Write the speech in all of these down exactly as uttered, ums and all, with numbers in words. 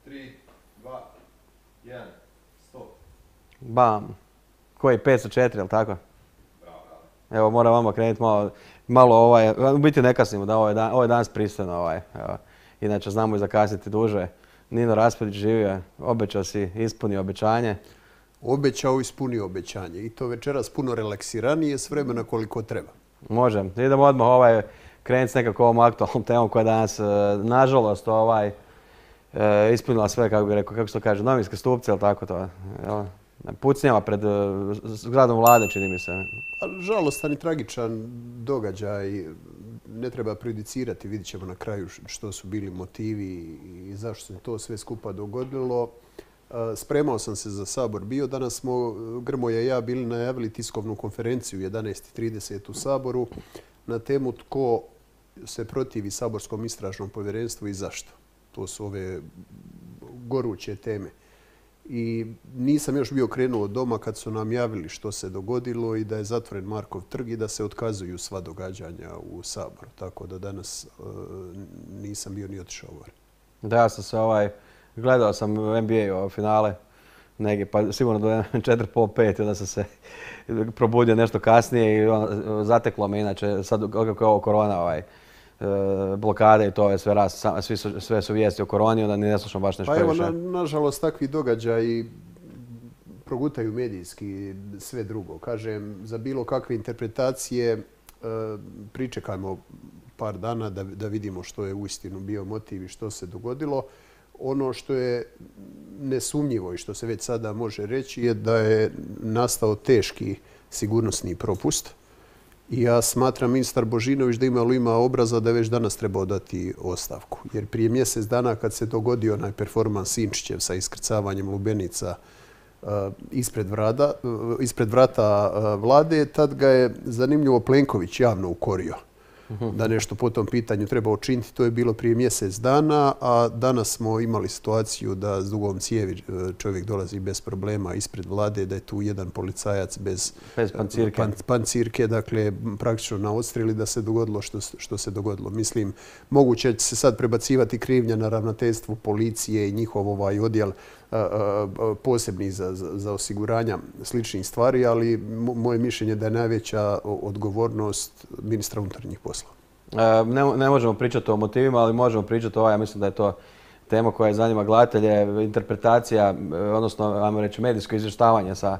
tri, dva, jedan, stop. Bam. Koji, petsto četiri, jel tako? Bravo, bravo. Evo, moram vama krenuti malo, malo ovaj, u biti ne kasnimo, da ovo je, dan, ovo je danas pristojno, ovaj, evo. Inače znamo i zakasniti duže. Nino Raspudić živio, obećao si, ispunio obećanje. Obećao, ispunio obećanje. I to večeras puno relaksiranije s vremena koliko treba. Može. Idemo odmah ovaj, krenuti s nekako ovom aktualnom temom koja danas, nažalost, ovaj, ispunila sve, kako bi rekao, kako se to kaže, novinske stupce, ili tako to? Jel? Pucnjava pred zgradom vlade, čini mi se. Žalostan i tragičan događaj. Ne treba prejudicirati, vidit ćemo na kraju što su bili motivi i zašto se to sve skupa dogodilo. Spremao sam se za Sabor bio. Danas smo, Grmoja i ja, bili najavili tiskovnu konferenciju u jedanaest i trideset u Saboru na temu tko se protivi saborskom istražnom povjerenstvu i zašto. To su ove goruće teme. I nisam još bio krenuo od doma kad su nam javili što se dogodilo i da je zatvoren Markov trg i da se otkazuju sva događanja u Saboru. Tako da danas uh, nisam bio ni otišao gore. Da, ja sam se ovaj, gledao sam N B A finale negdje, pa sigurno do četiri pola pet, onda sam se probudio nešto kasnije i on, zateklo me inače, sad kako je ovo korona, ovaj, blokade i to je sve, raz, svi su, sve su vijesti o koroni, onda ni ne slušam baš nešto previše. Pa evo, na, nažalost, takvi događaji progutaju medijski sve drugo. Kažem, za bilo kakve interpretacije pričekajmo par dana da, da vidimo što je uistinu bio motiv i što se dogodilo. Ono što je nesumnjivo i što se već sada može reći je da je nastao teški sigurnosni propust. I ja smatram ministar Božinović da imalo ima obraza da je već danas trebao dati ostavku. Jer prije mjesec dana kad se dogodio onaj performans Sinčićev sa iskrcavanjem lubenica uh, ispred, vrata, uh, ispred vrata uh, vlade, tad ga je zanimljivo Plenković javno ukorio da nešto po tom pitanju treba učiniti. To je bilo prije mjesec dana, a danas smo imali situaciju da s dugom cijevi čovjek dolazi bez problema ispred vlade, da je tu jedan policajac bez, bez pancirke. Pan, pancirke, dakle praktično na odstreli da se dogodilo što, što se dogodilo. Mislim, moguće će se sad prebacivati krivnja na ravnateljstvu policije i njihov ovaj odjel a, a, posebni za, za, za osiguranja sličnih stvari, ali moje mišljenje da je najveća odgovornost ministra unutarnjih poslova. Ne, ne možemo pričati o motivima, ali možemo pričati o ovaj, ja mislim da je to tema koja zanima gledatelje, interpretacija, odnosno, ajmo reći, medijsko izvještavanje sa,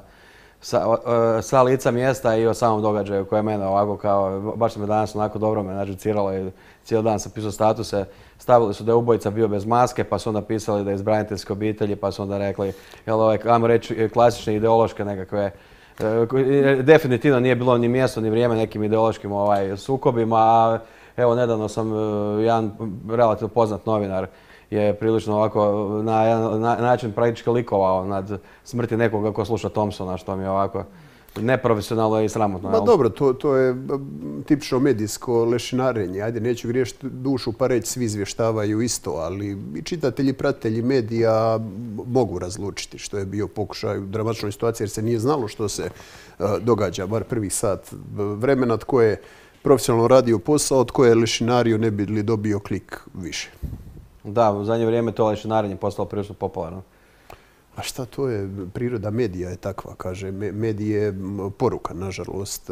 sa, sa lica mjesta i o samom događaju koje je mene ovako kao, baš se me danas onako dobro me nažuciralo i cijeli dan sam pisao statuse. Stavili su da je ubojica bio bez maske, pa su onda pisali da je iz braniteljske obitelji, pa su onda rekli, jel, ovaj, ajmo reći, klasične ideološke nekakve. Definitivno nije bilo ni mjesto ni vrijeme nekim ideološkim ovaj, sukobima. Evo, nedavno sam jedan relativno poznat novinar je prilično ovako na jedan na, način praktički likovao nad smrti nekoga ko sluša Thompsona, što mi je ovako neprofesionalno i sramotno. Ma dobro, to, to je tipično medijsko lešinarenje. Ajde, neću griješiti dušu pa reći svi izvještavaju isto, ali i čitatelji, pratitelji medija mogu razlučiti što je bio pokušaj u dramatičnoj situaciji jer se nije znalo što se uh, događa, bar prvih sat vremena, tko je profesionalno radio posao, tko je lešinario ne bi li dobio klik više. Da, u zadnje vrijeme to lešinarenje postalo prilično popularno. A šta to je? Priroda medija je takva, kaže. Medij je poruka, nažalost.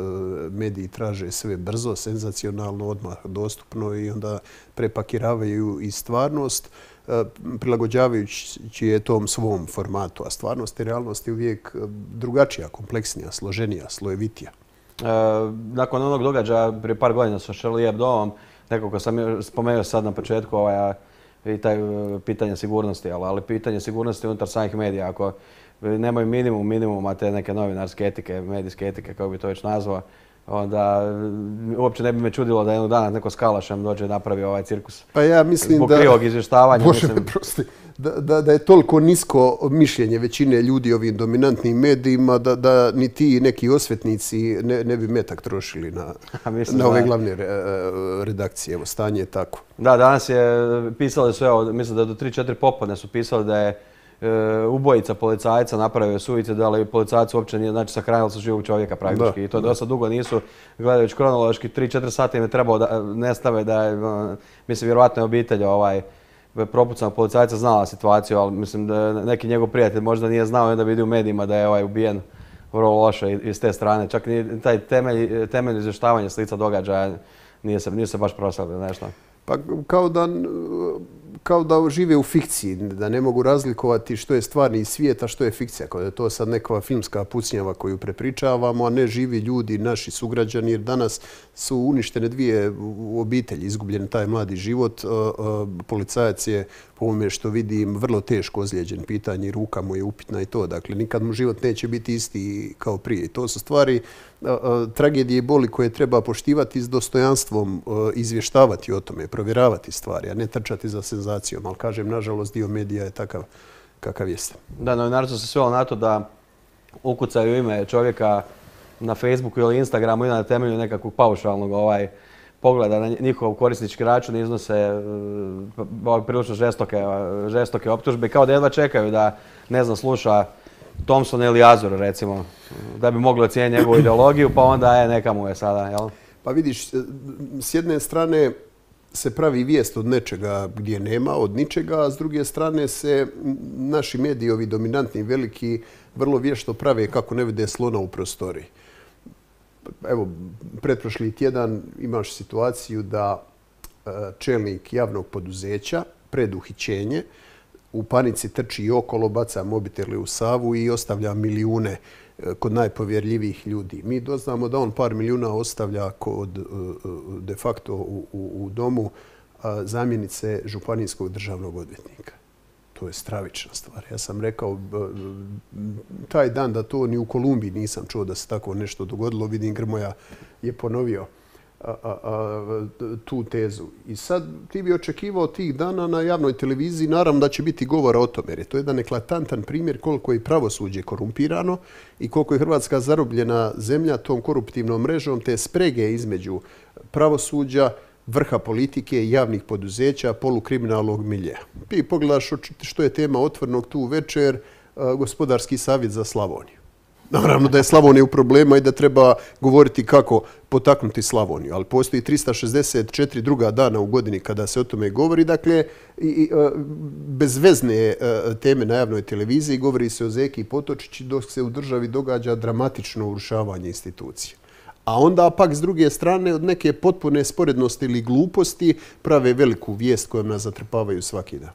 Mediji traže sve brzo, senzacionalno, odmah dostupno i onda prepakiravaju i stvarnost, prilagođavajući je tom svom formatu. A stvarnost i realnost je uvijek drugačija, kompleksnija, složenija, slojevitija. E, nakon onog događaja prije par godina sa Charlie Hebdoom, nekako sam spomenuo sad na početku ovaj, i taj pitanje sigurnosti, ali, ali pitanje sigurnosti unutar samih medija. Ako nemaju minimum minimuma te neke novinarske etike, medijske etike, kako bi to već nazvao, onda uopće ne bi me čudilo da jednog dana neko s kalašem dođe i napravi ovaj cirkus. Pa ja mislim zbog da... krivog izvještavanja. Bože mislim... me prosti. Da, da, da je toliko nisko mišljenje većine ljudi ovim dominantnim medijima da, da ni ti neki osvetnici ne, ne bi metak trošili na, na ove glavne re, redakcije. Evo, stanje je tako. Da, danas je pisali su, evo, mislim da do tri četiri popodne su pisali da je e, ubojica policajca napravio suicid, ali policajac uopće nije, znači sahranili su živog čovjeka praktički. Da, I to da. dosta dugo nisu, gledajući kronološki, tri četiri sata im je trebalo da nestave da je, mislim, vjerovatno je obitelj ovaj, propucanog policajca znala situaciju, ali mislim da neki njegov prijatelj možda nije znao i onda vidi u medijima da je ovaj ubijen vrlo loše iz te strane. Čak ni taj temelj, temelj izvještavanja s lica događaja nije se, nije se baš proslavio nešto. Pa kao da, kao da žive u fikciji, da ne mogu razlikovati što je stvarni svijet, a što je fikcija. Kao da je to sad neka filmska pucnjava koju prepričavamo, a ne živi ljudi, naši sugrađani, jer danas su uništene dvije obitelji, izgubljen taj mladi život. Policajac je, po ovome što vidim, vrlo teško ozlijeđen, pitanje ruka mu je upitna i to. Dakle, nikad mu život neće biti isti kao prije. I to su stvari tragedije i boli koje treba poštivati s dostojanstvom, izvještavati o tome, provjeravati stvari, a ne trčati za senzacijom. Ali kažem, nažalost, dio medija je takav kakav jeste. Da, novinarstvo se svelo na to da ukucaju ime čovjeka na Facebooku ili Instagramu i na temelju nekakvog paušalnog ovaj, pogleda na njihov korisnički račun iznose uh, prilično žestoke, žestoke optužbe, kao da jedva čekaju da, ne znam, sluša Thompson ili Azur, recimo, da bi mogli ocijeniti njegovu ideologiju, pa onda je, neka mu je sada, jel? Pa vidiš, s jedne strane se pravi vijest od nečega gdje nema, od ničega, a s druge strane se naši mediji, ovi dominantni, veliki, vrlo vješto prave kako ne vide slona u prostoriji. Evo, pretprošli tjedan imaš situaciju da čelnik javnog poduzeća pred uhićenje u panici trči okolo, baca mobitele u Savu i ostavlja milijune kod najpovjerljivijih ljudi. Mi doznamo da on par milijuna ostavlja kod, de facto u, u, u domu zamjenice županijskog državnog odvjetnika. To je stravična stvar. Ja sam rekao taj dan da to ni u Kolumbiji nisam čuo da se tako nešto dogodilo. Vidim, Grmoja je ponovio a, a, a, tu tezu. I sad ti bi očekivao tih dana na javnoj televiziji, naravno da će biti govora o tome, jer je to jedan eklatantan primjer koliko je pravosuđe korumpirano i koliko je Hrvatska zarobljena zemlja tom koruptivnom mrežom, te sprege između pravosuđa, vrha politike i javnih poduzeća, polukriminalnog miljeja. Ti pogledaš što je tema Otvorenog tu večer, gospodarski savjet za Slavoniju. Naravno da je Slavonija u problema i da treba govoriti kako potaknuti Slavoniju, ali postoji tristo šezdeset četiri druga dana u godini kada se o tome govori. Dakle, i, i, bezvezne teme na javnoj televiziji, govori se o Zeki i Potočići, dok se u državi događa dramatično urušavanje institucija. A onda pak s druge strane od neke potpune sporednosti ili gluposti prave veliku vijest kojom nas zatrpavaju svaki dan.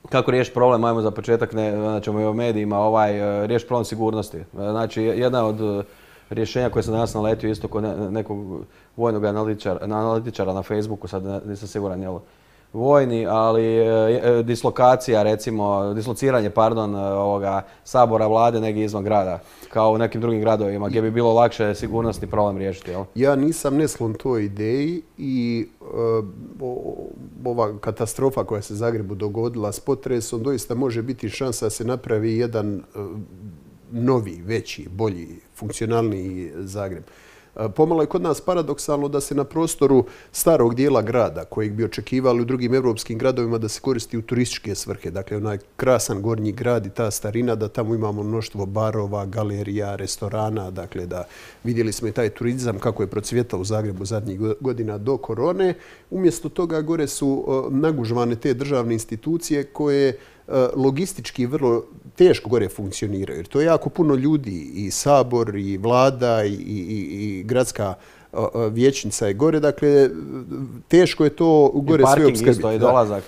Kako riješiti problem, ajmo za početak, ne, znači i o medijima, ovaj, riješiti problem sigurnosti. Znači, jedna od rješenja koje sam danas naletio isto kod nekog vojnog analitičara, analitičara na Facebooku, sad nisam siguran, jel, vojni, ali e, dislokacija, recimo, dislociranje, pardon, ovoga sabora, vlade negdje izvan grada, kao u nekim drugim gradovima, gdje bi bilo lakše sigurnosni problem riješiti, jel? Ja nisam nesklon toj ideji i e, ova katastrofa koja se Zagrebu dogodila s potresom doista može biti šansa da se napravi jedan e, novi, veći, bolji, funkcionalniji Zagreb. Pomalo je kod nas paradoksalno da se na prostoru starog dijela grada, kojeg bi očekivali u drugim evropskim gradovima da se koristi u turističke svrhe, dakle onaj krasan gornji grad i ta starina, da tamo imamo mnoštvo barova, galerija, restorana, dakle da vidjeli smo i taj turizam kako je procvjetao u Zagrebu zadnjih godina do korone. Umjesto toga gore su nagužvane te državne institucije koje logistički vrlo teško gore funkcioniraju. Jer to je jako puno ljudi, i sabor, i vlada, i, i, i gradska vijećnica je gore. Dakle, teško je to gore sve opskrbiti. I parking isto, i dolazak.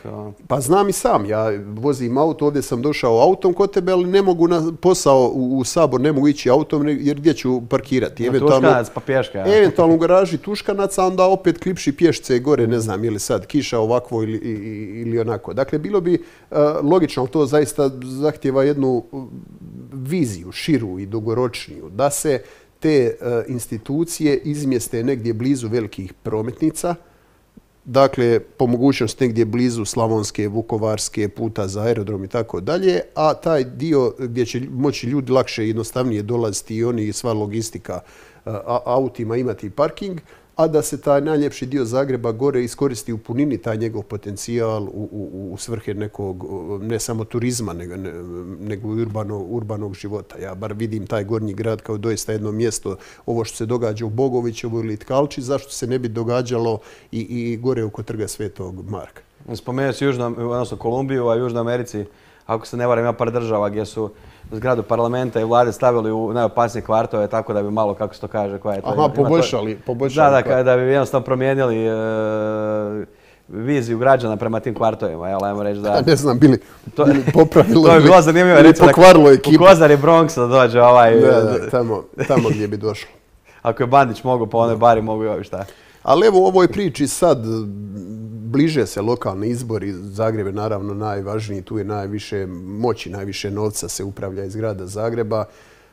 Pa znam i sam. Ja vozim auto, ovdje sam došao autom kod tebe, ali ne mogu na posao u, u sabor, ne mogu ići autom, jer gdje ću parkirati? Tuškanac pa pješka. Ja. Eventualno u garaži Tuškanaca, onda opet klipši pješce gore, ne znam, ili sad kiša ovakvo ili, ili onako. Dakle, bilo bi uh, logično, ali to zaista zahtjeva jednu viziju, širu i dugoročniju, da se te uh, institucije izmjeste negdje blizu velikih prometnica, dakle, po mogućnosti negdje blizu Slavonske, Vukovarske, puta za aerodrom i tako dalje, a taj dio gdje će moći ljudi lakše i jednostavnije dolaziti i oni i sva logistika uh, autima imati parking, a da se taj najljepši dio Zagreba gore iskoristi u punini taj njegov potencijal u, u, u svrhe nekog, ne samo turizma, nego, nego urbanog, urbanog života. Ja bar vidim taj gornji grad kao doista jedno mjesto, ovo što se događa u Bogovićevoj ili Tkalči, zašto se ne bi događalo i, i gore oko trga Svetog Marka. Spomenuo si Južno, odnosno Kolumbiju, a u Južnoj Americi, ako se ne varam, ima par država gdje su zgradu parlamenta i vlade stavili u najopasnije kvartove, tako da bi malo, kako se to kaže, koja je to... Aha, poboljšali, poboljšali. Da, da, da bi jednostavno promijenili e, viziju građana prema tim kvartovima, jel, ajmo reći da... Ne znam, bili, to, bili popravilo to je bilo zanimljivo, ili recimo, pokvarilo ekipu. U Kozari Bronxa da dođe ovaj... Da, da, tamo, tamo gdje bi došlo. Ako je Bandić mogu, pa onoj bari mogu i ovi šta. Ali evo u ovoj priči sad bliže se lokalni izbori, Zagreb je naravno najvažniji, tu je najviše moći, najviše novca se upravlja iz grada Zagreba.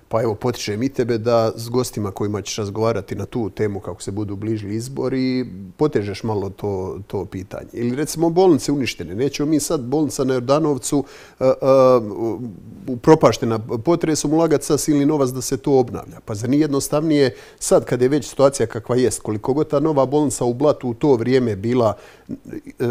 Pa evo, potičem i tebe da s gostima kojima ćeš razgovarati na tu temu kako se budu bližili izbori, potežeš malo to, to pitanje. Ili recimo bolnice uništene. Nećemo mi sad bolnica na Jordanovcu uh, uh, upropaštena potresom ulagati sa silni novac da se to obnavlja. Pa za nije jednostavnije sad kad je već situacija kakva jest, koliko god ta nova bolnica u Blatu u to vrijeme bila uh,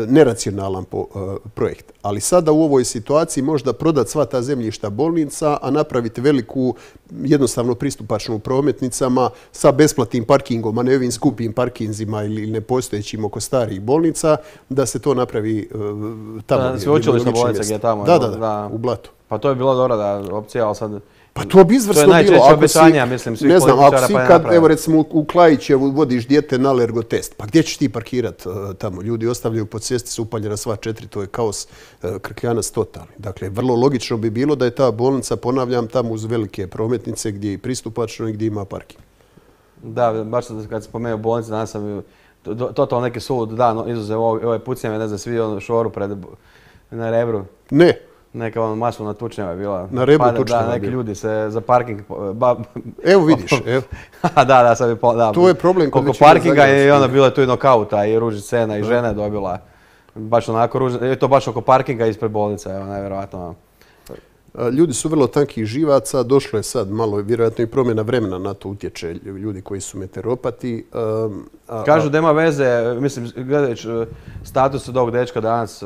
neracionalan po, uh, projekt. Ali sada u ovoj situaciji možda prodati sva ta zemljišta bolnica, a napraviti veliku jednostavno pristupačnu prometnicama sa besplatnim parkingom, a ne ovim skupim parkinzima ili nepostojećim oko starih bolnica, da se to napravi uh, tamo. Da, sveučilišna bolnica gdje je tamo. Da, da, da, da, u Blatu. Pa to je bilo dobro da opcija, ali sad... Pa to bi izvrsno bilo. To je najčešće obećanja, mislim, svih ne znam, ako političara si pa je kad, napravio. evo recimo u Klajićevu vodiš dijete na alergotest, pa gdje ćeš ti parkirat uh, tamo? Ljudi ostavljaju po cesti, su upaljena sva četiri, to je kaos uh, krkljanac totalni. Dakle, vrlo logično bi bilo da je ta bolnica, ponavljam, tamo uz velike prometnice gdje je pristupačno i gdje ima parking. Da, baš kad spomenuo bolnice, danas sam totalno neki sulud dan, izuzev ove pucnjave, ne znam, svi ono šoru pred, na Rebru. Ne. Neka ono masovna tučnjava je bila. Na Rebru pa, tučnjava da, neki bila. ljudi se za parking... Ba, evo vidiš, evo. da, da, sad bi... Da, to je problem kod oko većine parkinga je i Zagrebaca. onda bilo je tu i nokauta i ruži scena i žena je dobila. Baš onako ružno, je to baš oko parkinga ispred bolnice, evo, najvjerovatno. Ljudi su vrlo tankih živaca, došlo je sad malo, vjerojatno i promjena vremena na to utječe ljudi koji su meteoropati. Um, a, Kažu da ima veze, mislim, gledajući status od ovog dečka danas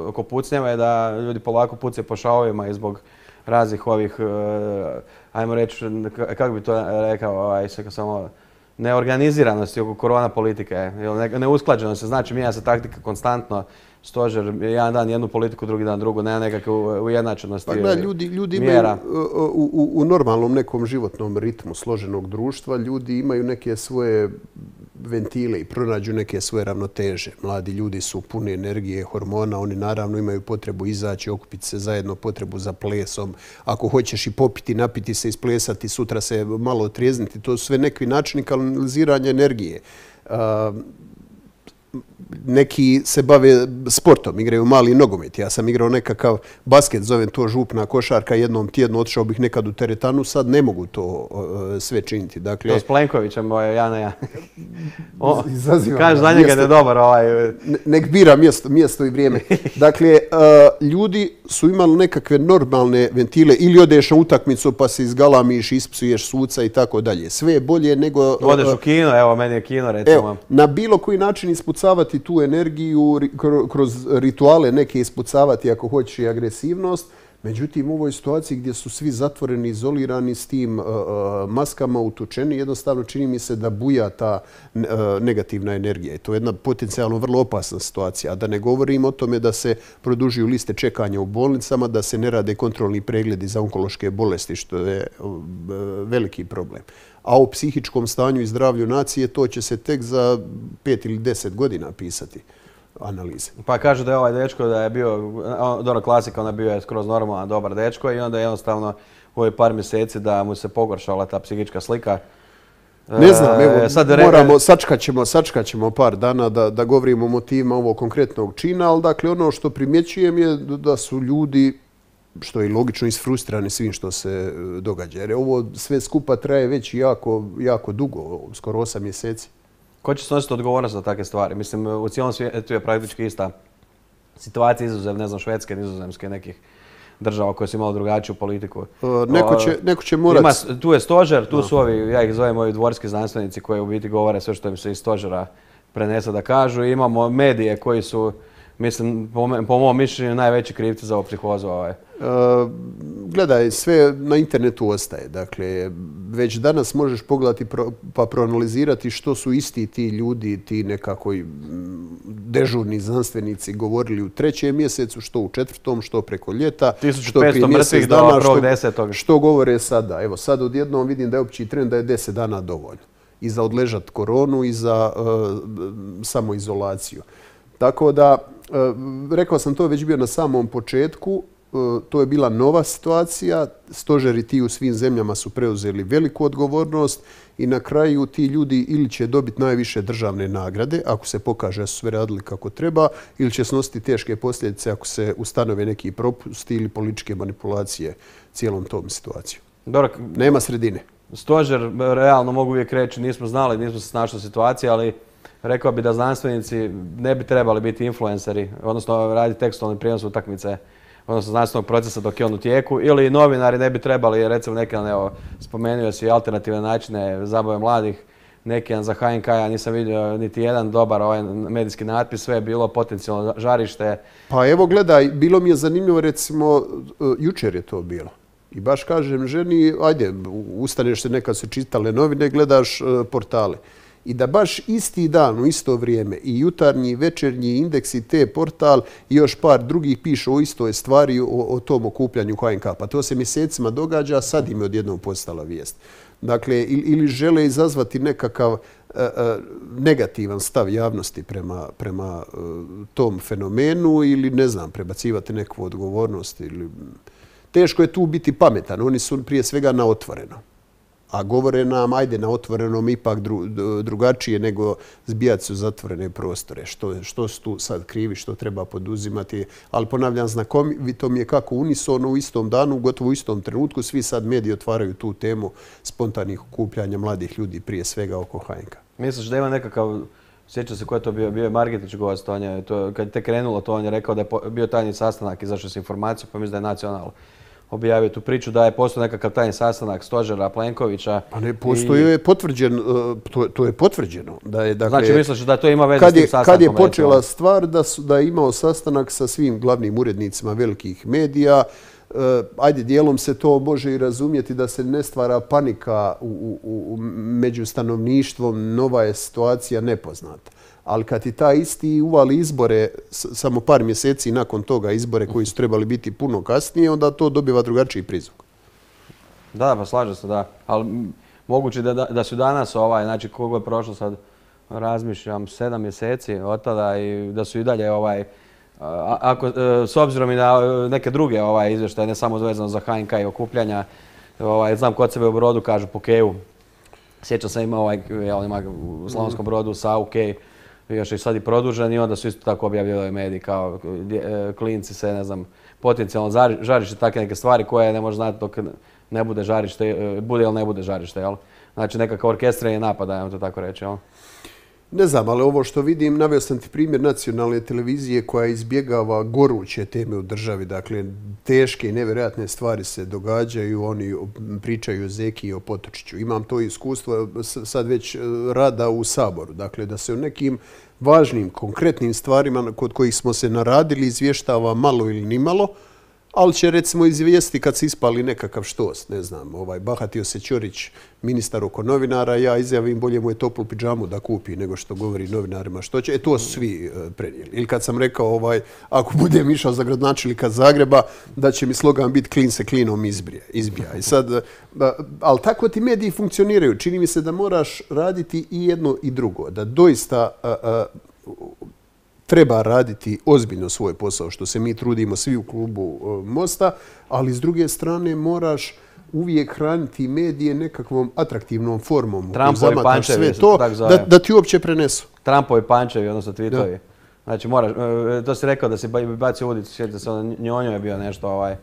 oko pucnjeva je da ljudi polako pucaju po šavovima i zbog raznih ovih, ajmo reći, kako bi to rekao, ovaj, samo neorganiziranosti oko korona politike, neusklađenosti, znači mijenja se taktika konstantno. Stožer, jedan dan jednu politiku, drugi dan drugu, nema nekakve ujednačenosti pa, da, ljudi, ljudi mjera. Imaju, u, u, u normalnom nekom životnom ritmu složenog društva, ljudi imaju neke svoje ventile i pronađu neke svoje ravnoteže. Mladi ljudi su puni energije, hormona, oni naravno imaju potrebu izaći, okupiti se zajedno, potrebu za plesom. Ako hoćeš i popiti, napiti se, isplesati, sutra se malo otrijezniti, to su sve neki načini kanaliziranja energije. Uh, Neki se bave sportom, igraju mali nogomet. Ja sam igrao nekakav basket, zovem to župna košarka, jednom tjedno otišao bih nekad u teretanu, sad ne mogu to uh, sve činiti. Dakle, to s Plenkovićem, ja ne ja. Kažeš za njega da je dobar ovaj... Ne, nek bira mjesto, mjesto i vrijeme. Dakle, uh, ljudi su imali nekakve normalne ventile ili odeš na utakmicu pa se izgalamiš, ispsuješ suca i tako dalje. Sve je bolje nego... Uh, odeš u kino, evo, meni je kino, recimo. Evo, na bilo koji način ispucavati tu energiju, kroz rituale neke ispucavati ako hoćeš i agresivnost. Međutim, u ovoj situaciji gdje su svi zatvoreni, izolirani s tim uh, maskama utučeni, jednostavno čini mi se da buja ta uh, negativna energija. I to je jedna potencijalno vrlo opasna situacija. A da ne govorim o tome da se produžuju liste čekanja u bolnicama, da se ne rade kontrolni pregledi za onkološke bolesti, što je uh, veliki problem. A o psihičkom stanju i zdravlju nacije to će se tek za pet ili deset godina pisati analize. Pa kažu da je ovaj dečko da je bio, dobro klasika, on je bio skroz normalan, dobar dečko i onda jednostavno u ovih par mjeseci da mu se pogoršala ta psihička slika. Ne znam, evo, sad moramo, sačkat ćemo, sačkat ćemo par dana da, da govorimo o motivima ovog konkretnog čina, ali dakle ono što primjećujem je da su ljudi, što je logično, isfrustrirani svim što se događa. Jer ovo sve skupa traje već jako, jako dugo, skoro osam mjeseci. Ko će snositi odgovornost za takve stvari? Mislim, u cijelom svijetu je praktički ista situacija, izuzev, ne znam, Švedske, Nizozemske, nekih država koje su imali drugačiju politiku. Uh, neko, će, neko će morati... Ima, tu je stožer, tu no. su ovi, ja ih zovem ovi dvorski znanstvenici koji u biti govore sve što im se iz stožera prenese da kažu. I imamo medije koji su, mislim, po, po mom mišljenju, najveći krivci za ovu psihozu. Ovaj. Uh, gledaj, sve na internetu ostaje. Dakle, već danas možeš pogledati pro, pa proanalizirati što su isti ti ljudi, ti nekako dežurni znanstvenici govorili u trećem mjesecu, što u četvrtom, što preko ljeta, tisuću što petsto prije mjesec mrtvih do dana, prvog što, desetog. što govore sada. Evo sad odjednom vidim da je opći trend da je deset dana dovoljno i za odležat koronu i za uh, samoizolaciju. Tako da, uh, rekao sam to već bio na samom početku, uh, to je bila nova situacija, stožeri ti u svim zemljama su preuzeli veliku odgovornost i na kraju ti ljudi ili će dobiti najviše državne nagrade, ako se pokaže da su sve radili kako treba, ili će snositi teške posljedice ako se ustanove neki propusti ili političke manipulacije cijelom tom situacijom. Dobro, nema sredine. Stožer, realno mogu uvijek reći, nismo znali, nismo se snašli u situaciji, ali rekao bi da znanstvenici ne bi trebali biti influenceri, odnosno raditi tekstualni prijenos utakmice, odnosno znanstvenog procesa dok je on u tijeku, ili novinari ne bi trebali, recimo neki, evo, spomenuo si alternativne načine zabave mladih, neki za H N K, ja nisam vidio niti jedan dobar ovaj medijski natpis, sve je bilo potencijalno žarište. Pa evo gledaj, bilo mi je zanimljivo, recimo, jučer je to bilo. I baš kažem ženi, ajde, ustaneš se nekad se čitale novine, gledaš portale. I da baš isti dan, u isto vrijeme, i jutarnji, i večernji, Indeks i T portal i još par drugih piše o istoj stvari, o, o tom okupljanju H N K. Pa to se mjesecima događa, a sad im je odjednom postala vijest. Dakle, ili, ili žele izazvati nekakav uh, uh, negativan stav javnosti prema, prema uh, tom fenomenu ili, ne znam, prebacivati neku odgovornost. Ili... Teško je tu biti pametan. Oni su prije svega na otvoreno. A govore nam, ajde, na otvorenom ipak dru, drugačije nego zbijati se u zatvorene prostore. Što, što su tu sad krivi, što treba poduzimati. Ali ponavljam, znakovito mi je kako unisono u istom danu, gotovo u istom trenutku, svi sad mediji otvaraju tu temu spontanih okupljanja mladih ljudi, prije svega oko H N K. Misliš da ima nekakav, sjeća se ko je to bio, bio je Margetić gost, on je, to, kad je te krenulo to, on je rekao da je bio tajni sastanak, izašao s informacijom, pa mislim da je Nacional objavio tu priču da je postao nekakav tajni sastanak Stožera, Plenkovića. Pa ne, postoje je potvrđen, to, to je potvrđeno. Da je, dakle, znači misliš da to ima veze kad s tim je, sastankom? Kad je počela stvar da, su, da je imao sastanak sa svim glavnim urednicima velikih medija, uh, ajde, dijelom se to može i razumjeti da se ne stvara panika u, u, u, među stanovništvom, nova je situacija nepoznata. Ali kad ti taj isti uvali izbore, samo par mjeseci nakon toga izbore koji su trebali biti puno kasnije, onda to dobiva drugačiji prizvuk. Da, pa slažem se, da. Ali moguće da, da, da su danas, ovaj, znači koliko je prošlo sad, razmišljam, sedam mjeseci od tada i da su i dalje, ovaj, ako, s obzirom i na neke druge ovaj, izvještaje, ne samo vezano za H N K i okupljanja, ovaj, znam kod sebe u Brodu kažu po Keju. Sjećam se ima, ovaj, jel, ima u Slavonskom Brodu sa U K, još je sad i produžen i onda su isto tako objavljali mediji kao klinci se, ne znam, potencijalno žarište, takve neke stvari koje ne može znati dok ne bude žarište, bude ili ne bude žarište, jel? Znači nekakav orkestrirani napad, ajmo to tako reći, jel? Ne znam, ali ovo što vidim, naveo sam ti primjer nacionalne televizije koja izbjegava goruće teme u državi. Dakle, teške i nevjerojatne stvari se događaju, oni pričaju o Zeki i o Potočiću. Imam to iskustvo sad već rada u Saboru. Dakle, da se o nekim važnim, konkretnim stvarima kod kojih smo se naradili izvještava malo ili nimalo, ali će recimo izvijesti kad se ispali nekakav štos, ne znam, ovaj, bahatio se Ćorić, ministar oko novinara, ja izjavim bolje mu je toplu pidžamu da kupi nego što govori novinarima što će. E, to su svi uh, prenijeli. Ili kad sam rekao, ovaj, ako budem išao za gradonačelnika Zagreba, da će mi slogan biti klin se klinom izbrije, izbija. I sad, uh, ali tako ti mediji funkcioniraju. Čini mi se da moraš raditi i jedno i drugo. Da doista uh, uh, treba raditi ozbiljno svoj posao, što se mi trudimo svi u klubu Mosta, ali s druge strane moraš uvijek hraniti medije nekakvom atraktivnom formom. Trumpovi pančevi, sve to, da, da ti uopće prenesu. Trumpovi pančevi, odnosno tweetovi. Da. Znači moraš, to si rekao da si bacio udicu, sjetite se, Njonjo je bio nešto ovaj...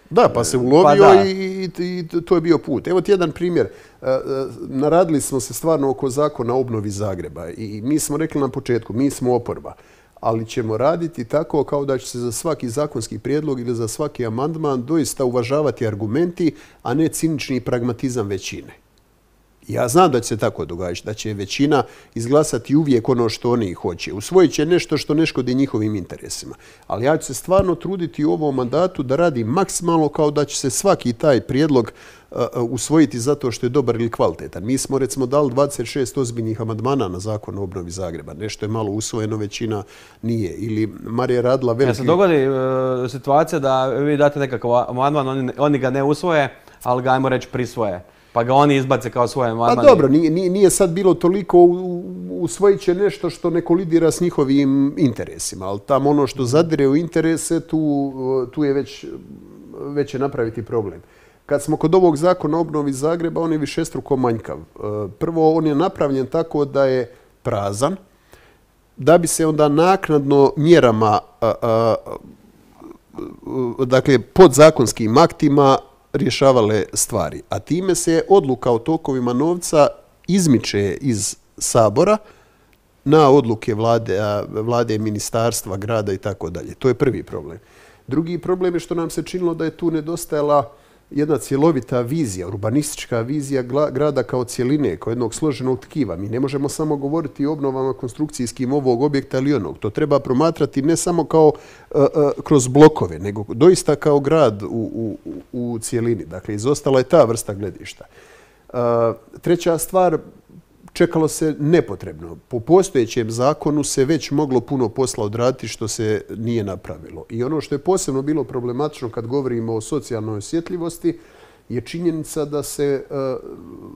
Da, pa se ulovio pa i, i, i to je bio put. Evo ti jedan primjer. Naradili smo se stvarno oko zakona o obnovi Zagreba i mi smo rekli na početku, mi smo oporba, ali ćemo raditi tako kao da će se za svaki zakonski prijedlog ili za svaki amandman doista uvažavati argumenti, a ne cinični pragmatizam većine. Ja znam da će se tako događati, da će većina izglasati uvijek ono što oni hoće. Usvojit će nešto što ne škodi njihovim interesima. Ali ja ću se stvarno truditi u ovom mandatu da radim maksimalno kao da će se svaki taj prijedlog uh, usvojiti zato što je dobar ili kvalitetan. Mi smo recimo dali dvadeset šest ozbiljnih amandmana na zakon o obnovi Zagreba. Nešto je malo usvojeno, većina nije. Ili Marija radila veliki... Ja se dogodi uh, situacija da vi date nekakav amandman, oni, oni ga ne usvoje, ali ga, ajmo reći, prisvoje. Pa ga oni izbace kao svoje amandmane. Pa dobro, nije, nije, nije sad bilo toliko usvojit će nešto što ne kolidira s njihovim interesima, ali tamo ono što zadire u interese, tu, tu je već, već je napraviti problem. Kad smo kod ovog zakona o obnovi Zagreba, on je višestruko manjkav. Prvo, on je napravljen tako da je prazan, da bi se onda naknadno mjerama, a, a, dakle, podzakonskim aktima rješavale stvari. A time se odluka o tokovima novca izmiče iz Sabora na odluke vlade, vlade, ministarstva, grada i tako dalje. To je prvi problem. Drugi problem je što nam se činilo da je tu nedostajala jedna cjelovita vizija, urbanistička vizija grada kao cjeline, kao jednog složenog tkiva. Mi ne možemo samo govoriti o obnovama konstrukcijskim ovog objekta ili onog. To treba promatrati ne samo kao uh, uh, kroz blokove, nego doista kao grad u, u, u cjelini. Dakle, izostala je ta vrsta gledišta. Uh, treća stvar, čekalo se nepotrebno. Po postojećem zakonu se već moglo puno posla odraditi što se nije napravilo. I ono što je posebno bilo problematično kad govorimo o socijalnoj osjetljivosti je činjenica da se uh,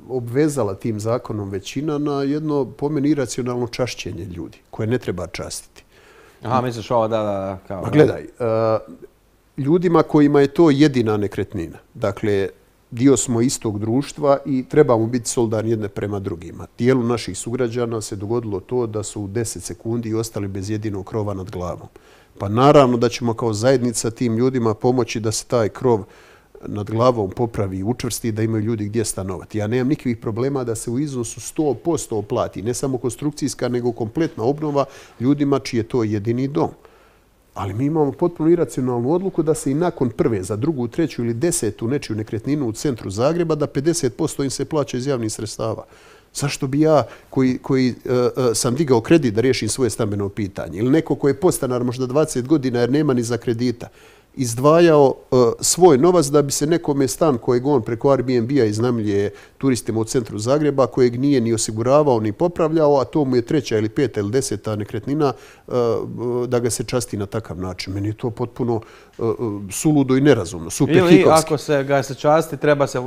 obvezala tim zakonom većina na jedno po meni iracionalno čašćenje ljudi koje ne treba častiti. Aha, misliš ovo, da, da, kao... Pa gledaj, uh, ljudima kojima je to jedina nekretnina, dakle, dio smo istog društva i trebamo biti solidarni jedne prema drugima. Dijelu naših sugrađana se dogodilo to da su u deset sekundi ostali bez jedinog krova nad glavom. Pa naravno da ćemo kao zajednica tim ljudima pomoći da se taj krov nad glavom popravi i učvrsti, da imaju ljudi gdje stanovati. Ja nemam nikakvih problema da se u iznosu sto posto oplati, ne samo konstrukcijska, nego kompletna obnova ljudima čiji je to jedini dom. Ali mi imamo potpuno iracionalnu odluku da se i nakon prve, za drugu, treću ili desetu nečiju nekretninu u centru Zagreba, da pedeset posto im se plaća iz javnih sredstava. Zašto bi ja, koji, koji uh, uh, sam digao kredit da riješim svoje stambeno pitanje, ili neko koji je podstanar možda dvadeset godina jer nema ni za kredita, izdvajao uh, svoj novac da bi se nekome stan kojeg on preko Airbnb-a iznajmljuje turistima u centru Zagreba, kojeg nije ni osiguravao ni popravljao, a to mu je treća ili peta ili deseta nekretnina, uh, da ga se časti na takav način. Meni je to potpuno uh, suludo i nerazumno. Super ili hikovski. Ako se ga se časti, treba se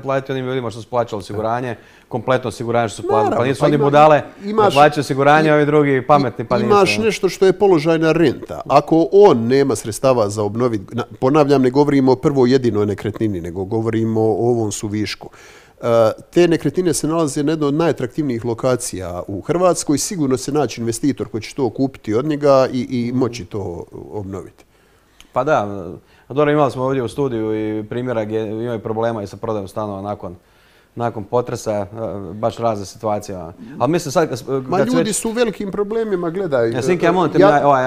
platiti onim ljudima što su plaćali osiguranje, kompletno osiguranje što su platili. Pa nisu pa oni ima, budale imaš, da plaćaju osiguranje, ovi drugi pametni pa nisu. Imaš nešto što je položajna renta. Ako on nema sredstava za obnoviti, ponavljam, ne govorimo o prvoj jedinoj nekretnini, nego govorimo o ovom suvišku. Te nekretnine se nalaze na jednoj od najatraktivnijih lokacija u Hrvatskoj. Sigurno se naći investitor koji će to kupiti od njega i, i moći to obnoviti. Pa da, dobro, imali smo ovdje u studiju i primjera gdje imaju problema i sa prodajom stanova nakon nakon potresa, baš razne situacije. Ali mislim sad... Kad, Ma ljudi već... su u velikim problemima, gledaj. Ja, Sinke, ja molim te, ja... ovaj,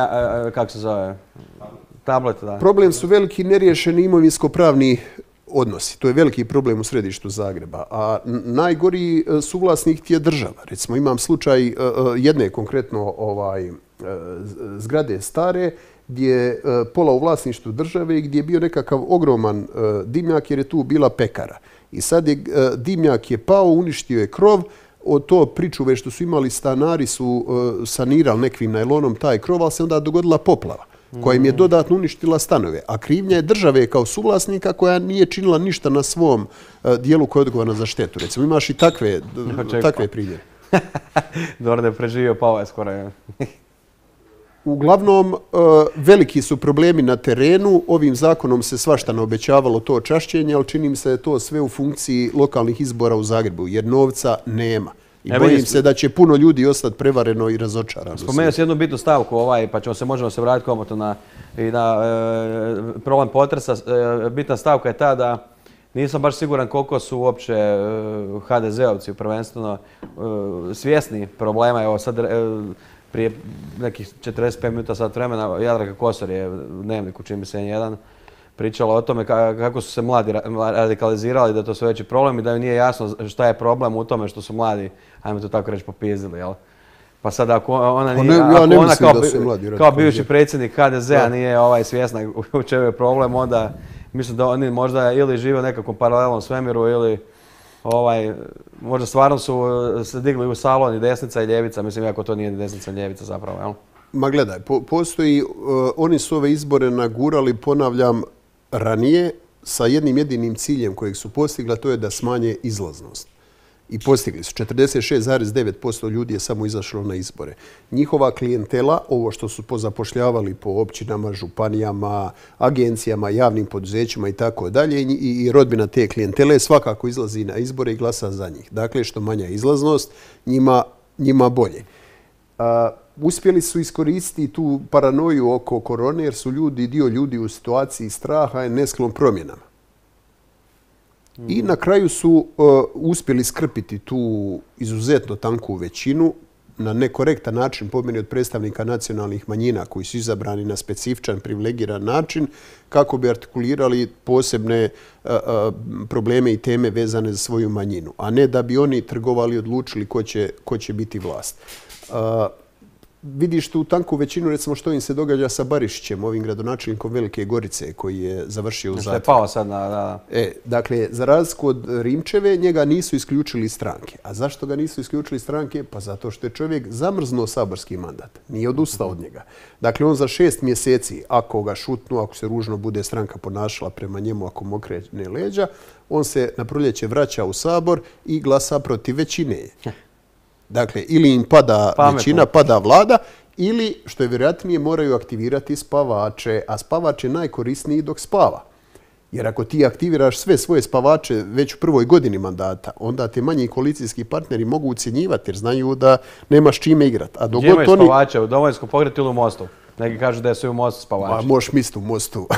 kako se zove, tablet, da. Problem su veliki neriješeni imovinsko-pravni odnosi. To je veliki problem u središtu Zagreba. A najgori suvlasnik ti je država. Recimo, imam slučaj jedne konkretno ovaj, zgrade stare, gdje je pola u vlasništvu države i gdje je bio nekakav ogroman dimnjak jer je tu bila pekara. I sad je dimnjak je pao, uništio je krov, od to pričuve što su imali stanari su sanirali nekvim najlonom taj krov, ali se onda dogodila poplava koja im je dodatno uništila stanove. A krivnja je države kao suvlasnika koja nije činila ništa na svom dijelu koja je odgovorna za štetu. Recimo, imaš i takve, takve primjere. Dobro da je preživio, pao je skoro. Uglavnom, veliki su problemi na terenu. Ovim zakonom se svašta naobećavalo to čašćenje, ali čini mi se da je to sve u funkciji lokalnih izbora u Zagrebu, jer novca nema. I e, bojim se da će puno ljudi ostati prevareno i razočarano. Spomenuo si jednu bitnu stavku, ovaj, pa ćemo se možemo se vratiti komoto na, i na e, problem potresa. E, bitna stavka je ta da nisam baš siguran koliko su uopće e, ha de zeovci prvenstveno e, svjesni problema. Evo sad, e, prije nekih četrdeset pet minuta sat vremena Jadranka Kosor je u Dnevniku, čini mi se jedan, pričala o tome kako su se mladi radikalizirali, da to su veći problem i da joj nije jasno šta je problem u tome što su mladi, ajmo to tako reći, popizdili, jel? Pa sad ako ona, nije, ne, ja ako ne ona kao, kao bivši radikalizirali. predsjednik H D Z-a nije ovaj, svjesna u čemu je problem, onda mislim da oni možda ili žive u nekakvom paralelnom svemiru ili ovaj, možda stvarno su se digli u salon i desnica i ljevica, mislim iako to nije desnica i ljevica zapravo, jel? Ma gledaj, po, postoji, uh, oni su ove izbore nagurali, ponavljam, ranije sa jednim jedinim ciljem kojeg su postigli, a to je da smanje izlaznost. I postigli su. četrdeset šest zarez devet posto ljudi je samo izašlo na izbore. Njihova klijentela, ovo što su pozapošljavali po općinama, županijama, agencijama, javnim poduzećima i tako dalje, i rodbina te klijentele svakako izlazi na izbore i glasa za njih. Dakle, što manja izlaznost, njima, njima bolje. A, uspjeli su iskoristiti tu paranoju oko korone jer su ljudi, dio ljudi u situaciji straha i nesklon promjenama. I na kraju su uh, uspjeli skrpiti tu izuzetno tanku većinu na nekorektan način, po meni od predstavnika nacionalnih manjina koji su izabrani na specifičan, privilegiran način, kako bi artikulirali posebne uh, uh, probleme i teme vezane za svoju manjinu, a ne da bi oni trgovali i odlučili ko će, ko će biti vlast. Uh, Vidiš tu tanku većinu, recimo što im se događa sa Barišićem, ovim gradonačelnikom Velike Gorice koji je završio u zatvoru. Što je pao sad na... Da. E, dakle, za razliku od Rimčeve, njega nisu isključili stranke. A zašto ga nisu isključili stranke? Pa zato što je čovjek zamrznuo saborski mandat. Nije odustao od njega. Dakle, on za šest mjeseci, ako ga šutnu, ako se ružno bude stranka ponašala prema njemu, ako mu okrene leđa, on se na proljeće vraća u sabor i glasa protiv većine. Dakle, ili im pada Pametno. većina, pada vlada, ili, što je vjerojatnije, moraju aktivirati spavače, a spavač je najkorisniji dok spava. Jer ako ti aktiviraš sve svoje spavače već u prvoj godini mandata, onda te manji koalicijski partneri mogu ucjenjivati jer znaju da nemaš čime igrati. Gdje imaju oni... spavače? U Domovinskom pokretu ili u Mostu? Neki kažu da su u Mostu spavači. Ma, možeš misliti u Mostu.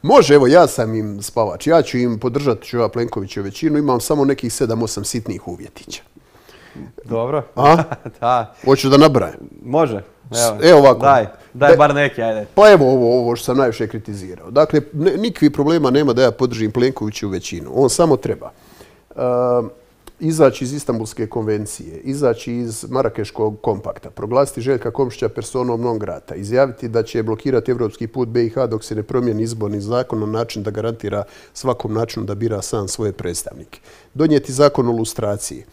Može, evo, ja sam im spavač. Ja ću im podržati ću ja Plenkoviću većinu. Imam samo nekih sedam osam sitnih uvjetića. Dobro. A? Da. Hoću da nabrajam. Može. Evo, evo ovako. Daj, daj Be, bar neki, ajde. Pa evo ovo, ovo što sam najviše kritizirao. Dakle, ne, nikakvih problema nema da ja podržim Plenkoviću većinu. On samo treba uh, izaći iz Istanbulske konvencije, izaći iz Marakeškog kompakta, proglasiti Željka Komšića personom non grata, izjaviti da će blokirati evropski put B i H dok se ne promijeni izborni zakon na način da garantira svakom načinu da bira sam svoje predstavnike. Donijeti zakon o lustraciji.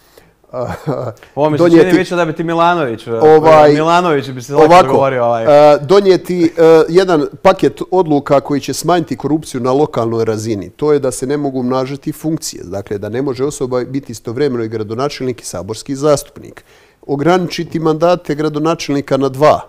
Ovo mi se donijeti, čini više da bi ti Milanović, ovaj, Milanović bi se ovako govorio. Ovaj. Uh, donijeti uh, jedan paket odluka koji će smanjiti korupciju na lokalnoj razini. To je da se ne mogu umnažati funkcije. Dakle, da ne može osoba biti istovremeno i gradonačelnik i saborski zastupnik. Ograničiti mandate gradonačelnika na dva.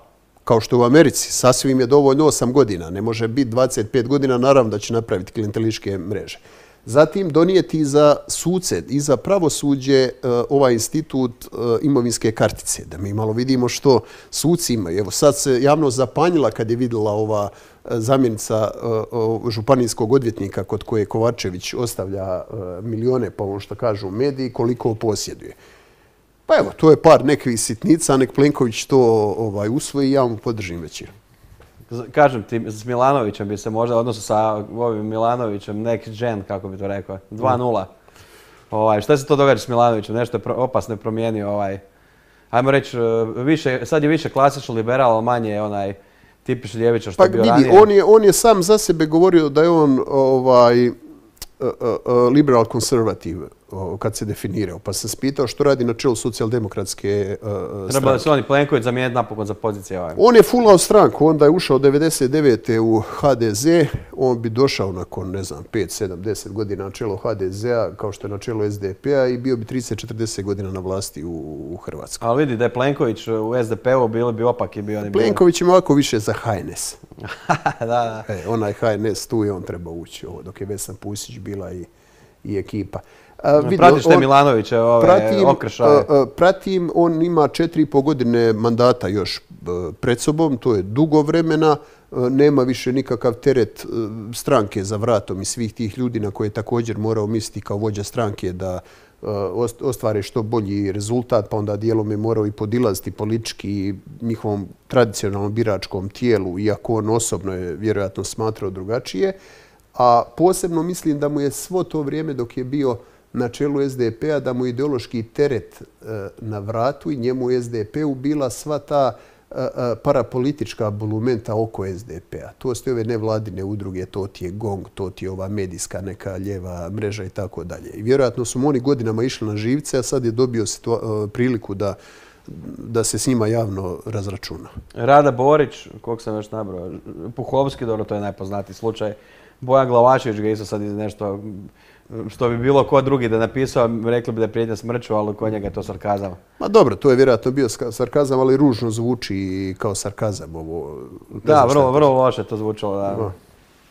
Kao što u Americi, sasvim je dovoljno osam godina. Ne može biti dvadeset pet godina, naravno da će napraviti klijentelističke mreže. Zatim donijeti za suce i za pravosuđe uh, ovaj institut uh, imovinske kartice. Da mi malo vidimo što suci imaju. Evo sad se javnost zapanjila kad je vidjela ova uh, zamjenica uh, županijskog odvjetnika kod koje Kovačević ostavlja uh, milione, pa ono što kažu mediji, koliko posjeduje. Pa evo, to je par nekih sitnica, nek Plenković to ovaj, usvoji i ja mu podržim većinu. Kažem ti, s Milanovićem bi se možda, odnosno sa ovim Milanovićem, next gen, kako bi to rekao, dva nula. Ovaj, šta se to događa s Milanovićem? Nešto je opasno promijenio, ovaj, ajmo reći, više, sad je više klasično liberal, manje je onaj tipični ljevičar što je bio ranije. On je, on je sam za sebe govorio da je on ovaj, uh, uh, liberal konservativ kad se definirao. Pa sam spitao što radi na čelu socijaldemokratske uh, stranke. Treba da se on i Plenković zamijeniti napokon za pozicije. Ovaj. On je fulao stranku, onda je ušao devedeset devete u H D Z, on bi došao nakon, ne znam, pet, sedam, deset godina na čelo H D Z-a, kao što je na čelo S D P-a i bio bi trideset četrdeset godina na vlasti u, u Hrvatskoj. Ali vidi da je Plenković u S D P-u bili bi opak i bio... Oni Plenković ima ovako više za H N S. da, da. E, onaj H N S tu je on treba ući, ovo, dok je Vesna Pusić bila i, i ekipa. Uh, vidio, Pratiš te Milanoviće ove pratim, okršaje? Uh, uh, pratim, on ima četiri i pol godine mandata još uh, pred sobom, to je dugo vremena, uh, nema više nikakav teret uh, stranke za vratom i svih tih ljudi na koje je također morao misliti kao vođa stranke da ostvare što bolji rezultat, pa onda dijelom je morao i podilaziti politički njihovom tradicionalnom biračkom tijelu, iako on osobno je vjerojatno smatrao drugačije. A posebno mislim da mu je svo to vrijeme dok je bio na čelu es de pe-a, da mu je ideološki teret na vratu i njemu es de pe-u bila sva ta parapolitička bolumenta oko es de pe-a. To su ove nevladine udruge, to ti je GONG, to ti je ova medijska neka ljeva mreža i tako dalje. I vjerojatno su mu oni godinama išli na živce, a sad je dobio priliku da da se s njima javno razračuna. Rada Borić, kog sam još nabrao, Puhovski, dobro, to je najpoznatiji slučaj. Bojan Glavašević ga isto sad iz nešto što bi bilo ko drugi da napisao, rekli bi da je prijetnja smrću, ali kod njega je to sarkazam. Ma dobro, to je vjerojatno bio sarkazam, ali ružno zvuči kao sarkazam ovo. Da, vrlo, vrlo loše to zvučalo, da.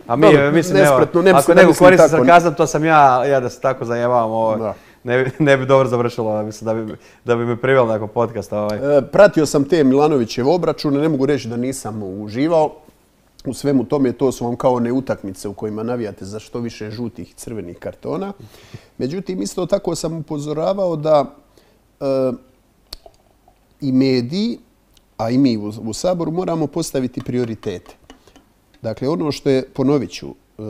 A mi, Dobro, mislim, nespretno, evo, ne ako mislim da neko mislim koristi tako. sarkazam, to sam ja, ja da se tako zajebavam, ovo, Da. ne, bi- ne bi dobro završilo, mislim, da bi, da bi me privelo nakon podcasta. Ovaj. E, Pratio sam te Milanovićeve obračune, ne mogu reći da nisam uživao. U svemu tome to su vam kao one utakmice u kojima navijate za što više žutih i crvenih kartona. Međutim, isto tako sam upozoravao da e, i mediji, a i mi u, u Saboru moramo postaviti prioritete. Dakle, ono što je, ponovit ću, e,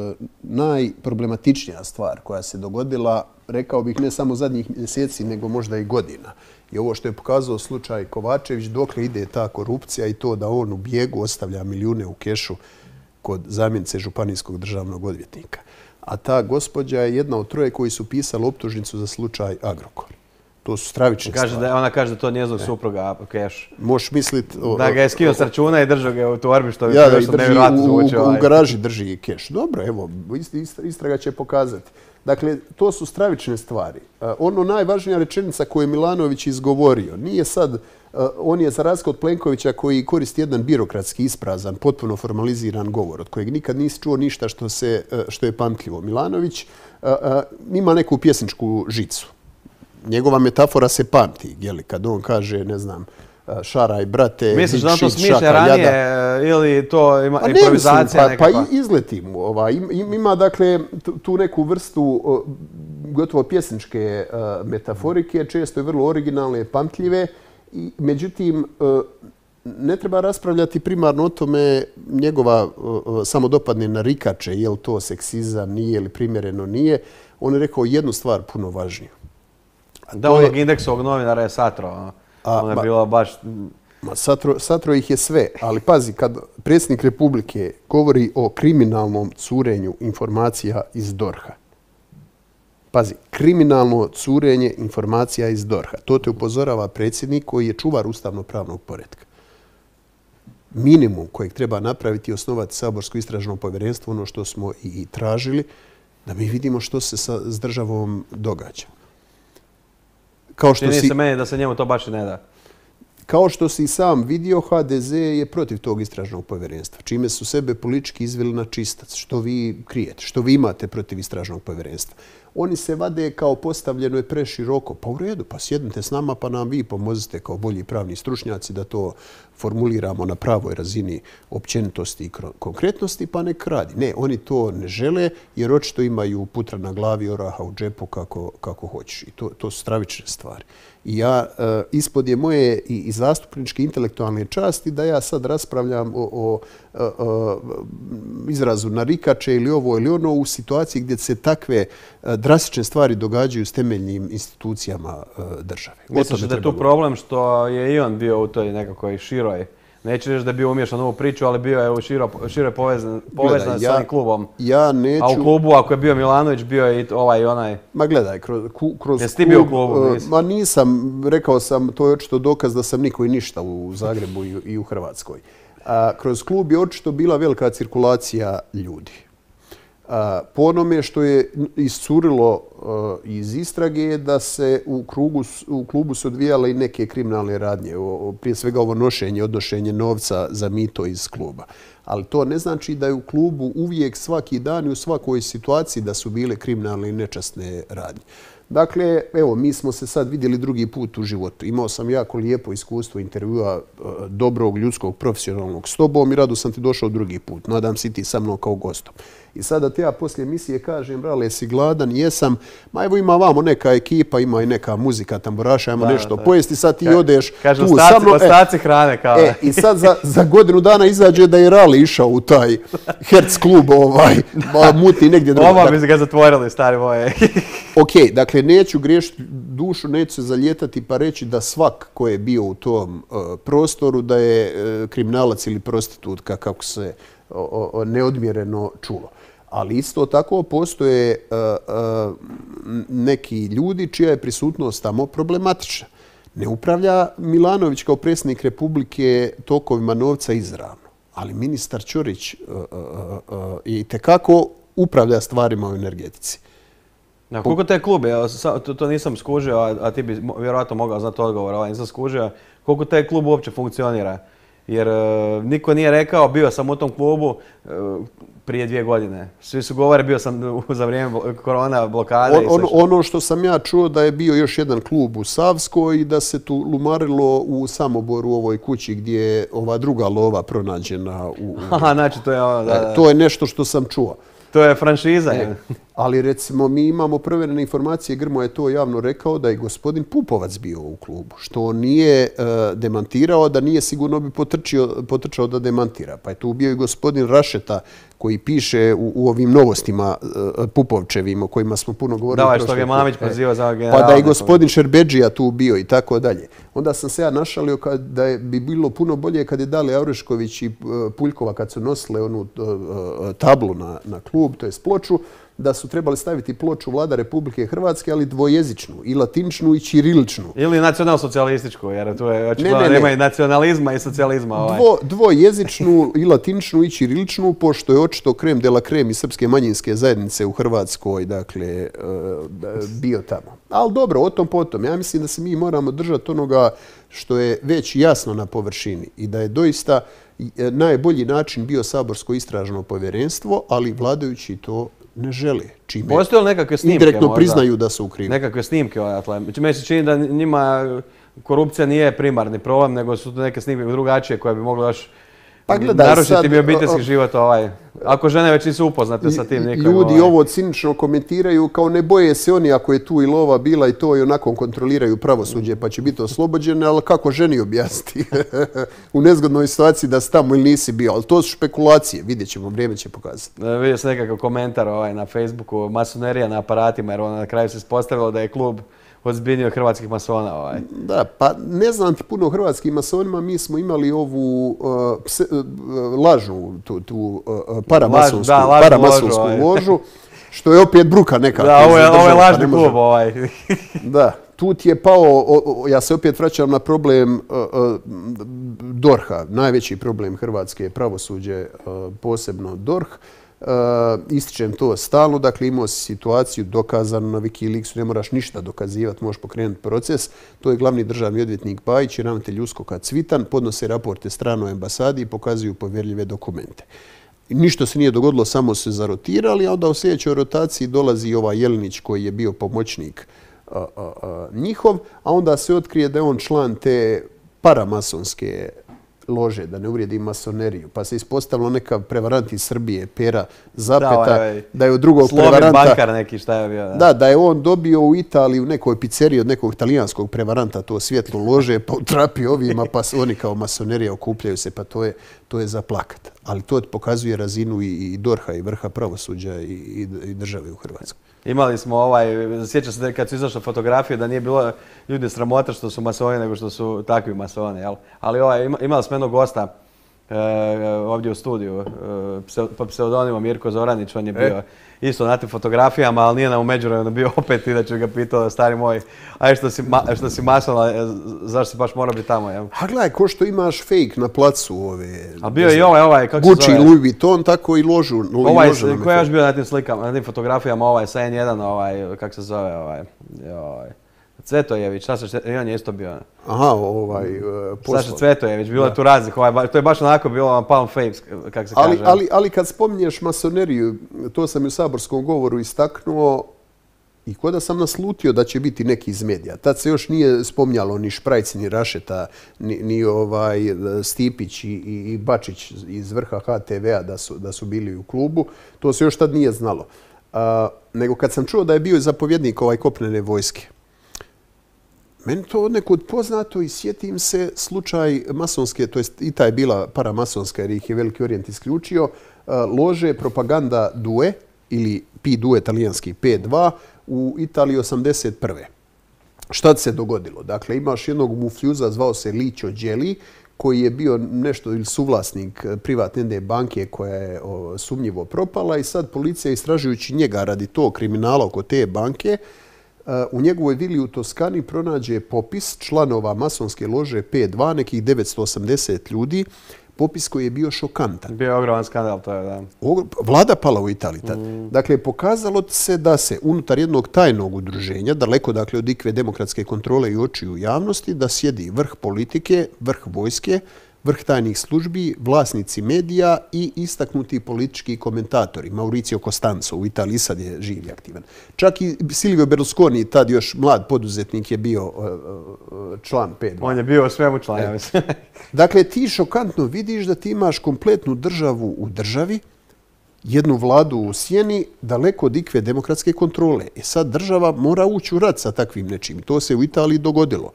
najproblematičnija stvar koja se dogodila, rekao bih ne samo zadnjih mjeseci, nego možda i godina. I ovo što je pokazao slučaj Kovačević, dokle ide ta korupcija i to da on u bijegu ostavlja milijune u kešu kod zamjenice županijskog državnog odvjetnika. A ta gospođa je jedna od troje koji su pisali optužnicu za slučaj Agrokor. To su stravične Kaže stvari. da, ona kaže da to njezinog supruga keš. Možeš misliti... Da ga je skinuo s računa i držao ga u torbi, što bi Ja, da, prilično i drži, nevjerojatno u, zvuči. u, u ovaj. garaži drži keš. Dobro, evo, ist- ist- istraga će pokazati. Dakle, to su stravične stvari. A, ono najvažnija rečenica koju je Milanović izgovorio, nije sad, a, on je za razliku od Plenkovića koji koristi jedan birokratski isprazan, potpuno formaliziran govor, od kojeg nikad nisi čuo ništa što, se, a, što je pamtljivo. Milanović a, a, ima neku pjesničku žicu. Njegova metafora se pamti, jeli, kad on kaže, ne znam, šaraj, brate, Misliš big da on to shit, smišlja šaka, ranije jada. ili to ima Pa ne improvizacija mislim, pa, nekakva? pa i- izleti mu. Ovaj, im- im- ima dakle tu- tu neku vrstu o, gotovo pjesničke uh, metaforike, često je vrlo originalne, pamtljive. I, međutim, uh, ne treba raspravljati primarno o tome njegova uh, samodopadne narikače, je li to seksizam, nije ili primjereno nije. On je rekao jednu stvar puno važniju. A Da, to onog je- indeksovog novinara je satro. ono. A, Ono je ma- bilo baš... Ma, satro, satro ih je sve, ali pazi, kad predsjednik Republike govori o kriminalnom curenju informacija iz dorha, pazi, kriminalno curenje informacija iz dorha, to te upozorava predsjednik koji je čuvar ustavno-pravnog poretka. Minimum kojeg treba napraviti je osnovati saborsko istražno povjerenstvo, ono što smo i, i tražili, da mi vidimo što se sa, s državom događa. Kao što Čini si... se meni da se njemu to baš i ne da. Kao što si sam vidio, ha de ze je protiv tog istražnog povjerenstva, čime su sebe politički izveli na čistac. Što vi krijete, što vi imate protiv istražnog povjerenstva. Oni se vade kao postavljeno je preširoko. Pa u redu, pa sjednite s nama pa nam vi pomozite kao bolji pravni stručnjaci da to formuliramo na pravoj razini općenitosti i konkretnosti, pa nek radi. Ne, oni to ne žele jer očito imaju putra na glavi, oraha u džepu kako, kako hoćeš. I to, to su stravične stvari. I ja, e, ispod je moje i, i zastupničke intelektualne časti da ja sad raspravljam o, o, o, o izrazu narikače ili ovo ili ono u situaciji gdje se takve e, drastične stvari događaju s temeljnim institucijama e, države. O Misliš tome da je treba tu problem što je i on bio u toj nekakvoj široj, neću reći da je bio umješan u ovu priču, ali bio je u širo, šire povezan, povezan Gledaj, s ja- ovim klubom. Ja neću... A u klubu, ako je bio Milanović, bio je i ovaj i onaj. Ma gledaj, kroz, ku- kroz Jesi ti bio u klubu, e, nisi? Ma nisam, rekao sam, to je očito dokaz da sam niko i ništa u Zagrebu i, i u Hrvatskoj. A, kroz klub je očito bila velika cirkulacija ljudi. A, po onome što je iscurilo a, iz istrage je da se u, krugu, s- u klubu su odvijale i neke kriminalne radnje, o, o, prije svega ovo nošenje, odnošenje novca za mito iz kluba. Ali to ne znači da je u klubu uvijek svaki dan i u svakoj situaciji da su bile kriminalne i nečasne radnje. Dakle, evo, mi smo se sad vidjeli drugi put u životu. Imao sam jako lijepo iskustvo intervjua e, dobrog, ljudskog, profesionalnog s tobom i rado sam ti došao drugi put. Nadam se i ti sa mnom kao gostom. I sada te ja poslije emisije kažem, brale, si gladan, jesam, ma evo ima vamo neka ekipa, ima i neka muzika, tamburaša, ajmo nešto pojesti, sad ti odeš Kaže, tu ostaci, sa mnom. ostaci hrane kao. E, i sad za, za godinu dana izađe da je Rali išao u taj Herc klub, ovaj, mutni negdje drugo. Ovo bi se ga zatvorili, stari moje. Ok, dakle, neću griješiti dušu, neću se zaljetati pa reći da svak ko je bio u tom uh, prostoru da je uh, kriminalac ili prostitutka, kako se uh, uh, neodmjereno čulo. Ali isto tako postoje uh, uh, neki ljudi čija je prisutnost tamo problematična. Ne upravlja Milanović kao predsjednik Republike tokovima novca izravno, ali ministar Ćorić uh, uh, uh, i tekako upravlja stvarima u energetici. Na koliko te klub, ja, to, to nisam skužio, a, a ti bi vjerojatno mogao znati odgovor, ovaj nisam skužio, koliko taj klub uopće funkcionira? Jer uh, niko nije rekao, bio sam u tom klubu uh, prije dvije godine. Svi su govore, bio sam za vrijeme korona blokade. On, i ono, ono što sam ja čuo da je bio još jedan klub u Savskoj i da se tu lumarilo u Samoboru u ovoj kući gdje je ova druga lova pronađena. U, u... Aha, znači to je ono, da, da. To je nešto što sam čuo. To je franšiza. E, ali recimo mi imamo provjerene informacije, Grmo je to javno rekao da je gospodin Pupovac bio u klubu, što on nije uh, demantirao, da nije sigurno bi potrčio, potrčao da demantira. Pa je tu bio i gospodin Rašeta koji piše u, u ovim novostima uh, Pupovčevim o kojima smo puno govorili. Da, što je Mamić prozivao za generala. Pa da je gospodin Šerbedžija tu bio i tako dalje. Onda sam se ja našalio kad, da je, bi bilo puno bolje kad je Dalija Orešković i uh, Puljkova kad su nosile onu uh, uh, tablu na, na klub, to je ploču, da su trebali staviti ploču Vlada Republike Hrvatske, ali dvojezičnu, i latiničnu i ćiriličnu. Ili nacionalsocijalističku, jer tu je očito ne, ne, nema ne. i nacionalizma i socijalizma. Ovaj. Dvo, dvojezičnu i latiničnu i ćiriličnu, pošto je očito krem de la krem i srpske manjinske zajednice u Hrvatskoj, dakle, bio tamo. Ali dobro, o tom potom. Ja mislim da se mi moramo držati onoga što je već jasno na površini i da je doista najbolji način bio saborsko istražno povjerenstvo, ali vladajući to ne žele. Čime postoje li nekakve snimke indirektno možda? Priznaju da su u krivu. Nekakve snimke odatle. Meni se čini da njima korupcija nije primarni problem, nego su to neke snimke drugačije koje bi mogle još pa gledaj, narušiti sad, mi obiteljski život. Ovaj. Ako žene već nisu upoznate sa tim nikom. Ljudi ovaj. ovo cinično komentiraju kao ne boje se oni ako je tu i lova bila i to i onako kontroliraju pravosuđe pa će biti oslobođene, ali kako ženi objasniti u nezgodnoj situaciji da si tamo ili nisi bio. Ali to su špekulacije, vidjet ćemo, vrijeme će pokazati. E, vidio sam nekakav komentar ovaj, na Facebooku, masonerija na aparatima, jer ono na kraju se ispostavilo da je klub ozbiljniji od hrvatskih masona. Ovaj. Da, pa ne znam ti puno o hrvatskim masonima, mi smo imali ovu uh, pse, uh, lažnu, tu, tu uh, paramasonsku, da, lažnu paramasonsku ložu, ovaj. ložu, što je opet bruka neka. Da, ovo je, ovo je lažni klub. Ovaj. Da, tu ti je pao, o, o, ja se opet vraćam na problem uh, uh, dorha, najveći problem Hrvatske je pravosuđe, uh, posebno dorh. Uh, ističem to stalno, dakle imao si situaciju dokazano na Wikileaksu, ne moraš ništa dokazivati, možeš pokrenuti proces. To je glavni državni odvjetnik Bajić i ravnatelj USKOK-a Cvitan, podnose raporte stranoj ambasadi i pokazuju povjerljive dokumente. Ništa se nije dogodilo, samo se zarotirali, a onda u sljedećoj rotaciji dolazi ovaj Jelinić koji je bio pomoćnik uh, uh, uh, njihov, a onda se otkrije da je on član te paramasonske lože, da ne uvrijedi masoneriju. Pa se ispostavilo neka prevarant iz Srbije, Pera Zapeta, da, ovaj, da je od drugog Slovin prevaranta... bankar neki, šta je bio? Da. da, da je on dobio u Italiji u nekoj pizzeriji od nekog italijanskog prevaranta to svjetlo lože, pa utrapio ovima, pa oni kao masonerija okupljaju se, pa to je, to je za plakat. Ali to pokazuje razinu i, i dorha i vrha pravosuđa i, i, i države u Hrvatskoj. Imali smo ovaj, sjećam se kad su izašle fotografije da nije bilo ljudi sramota što su masoni nego što su takvi masoni, jel? Ali ovaj, imali smo jednog gosta e, ovdje u studiju, e, pod pseudonimom Mirko Zoranić, on je bio e. isto na tim fotografijama, ali nije nam u međuvremenu bio opet i da ću ga pitao, stari moj, aj što si, ma, što si masona, zašto si baš mora biti tamo, jel? A gledaj, ko što imaš fake na placu ove... A bio je i ovaj, ovaj, kako Gucci, se zove? Louis Vuitton, tako i ložu. Ovaj, ko je još bio na tim slikama, na tim fotografijama, ovaj, sa en jedan, ovaj, kako se zove, ovaj, ovaj, Cvetojević, Saša, on je isto bio. Aha, ovaj, uh, poslov. Saša Cvetojević, bilo je tu raznih, ovaj, to je baš onako bilo palm face, kako se ali, kaže. Ali, ali kad spominješ masoneriju, to sam i u saborskom govoru istaknuo, I ko da sam naslutio da će biti neki iz medija. Tad se još nije spominjalo ni Šprajc, ni Rašeta, ni, ni ovaj Stipić i, i, i Bačić iz vrha ha te vea da su, da su bili u klubu. To se još tad nije znalo. A, nego kad sam čuo da je bio zapovjednik ovaj kopnene vojske, meni to odnekud poznato i sjetim se slučaj masonske, to jest i ta je bila paramasonska jer ih je Veliki Orijent isključio, lože propaganda Due ili P due talijanski P dva u Italiji osamdeset prve. Šta se dogodilo? Dakle, imaš jednog mufljuza, zvao se Licio Gelli, koji je bio nešto ili suvlasnik privatne jedne banke koja je o, sumnjivo propala i sad policija istražujući njega radi tog kriminala oko te banke, u njegovoj vili u Toskani pronađe popis članova masonske lože P dva, nekih devetsto osamdeset ljudi, popis koji je bio šokantan. Bio je ogroman skandal, to je, da. Vlada pala u Italiji tad. Mm. Dakle, pokazalo se da se unutar jednog tajnog udruženja, daleko dakle od ikve demokratske kontrole i očiju javnosti, da sjedi vrh politike, vrh vojske, vrh tajnih službi, vlasnici medija i istaknuti politički komentatori. Mauricio Costanzo u Italiji sad je živ i aktivan. Čak i Silvio Berlusconi, tad još mlad poduzetnik, je bio uh, uh, član P dva. On je bio svemu član, ja mislim. Dakle, ti šokantno vidiš da ti imaš kompletnu državu u državi, jednu vladu u sjeni, daleko od ikve demokratske kontrole. E sad država mora ući u rat sa takvim nečim. To se u Italiji dogodilo.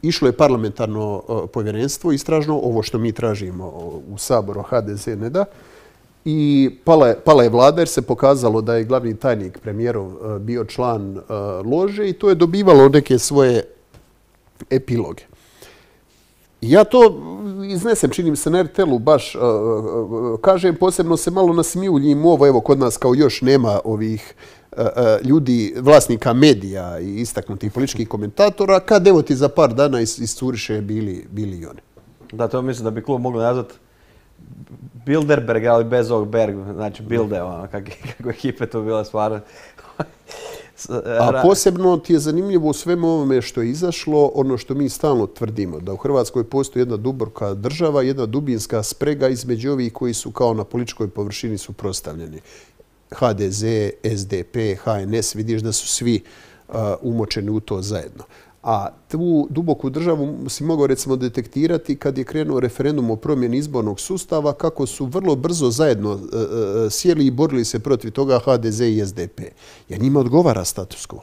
Išlo je parlamentarno povjerenstvo, istražno, ovo što mi tražimo u Saboru, ha de ze ne da. I pala je, pala je vlada jer se pokazalo da je glavni tajnik premijerov bio član lože i to je dobivalo neke svoje epiloge. Ja to iznesem, činim se na er te el u baš, kažem, posebno se malo nasmijuljim ovo, evo kod nas kao još nema ovih ljudi, vlasnika medija i istaknutih političkih komentatora, kad evo ti za par dana iscuriše bili, bili i oni. Da, to mislim da bi klub mogli nazvati Bilderberg, ali bez ovog Berg, znači Bilde, ono, kako, kako ekipe to bila stvarno. A posebno ti je zanimljivo u svemu ovome što je izašlo, ono što mi stalno tvrdimo, da u Hrvatskoj postoji jedna duboka država, jedna dubinska sprega između ovih koji su kao na političkoj površini suprotstavljeni. ha de ze, es de pe, ha en es, vidiš da su svi uh, umočeni u to zajedno. A tu duboku državu si mogao recimo detektirati kad je krenuo referendum o promjeni izbornog sustava, kako su vrlo brzo zajedno uh, sjeli i borili se protiv toga ha de ze i es de pe. Jer njima odgovara status quo.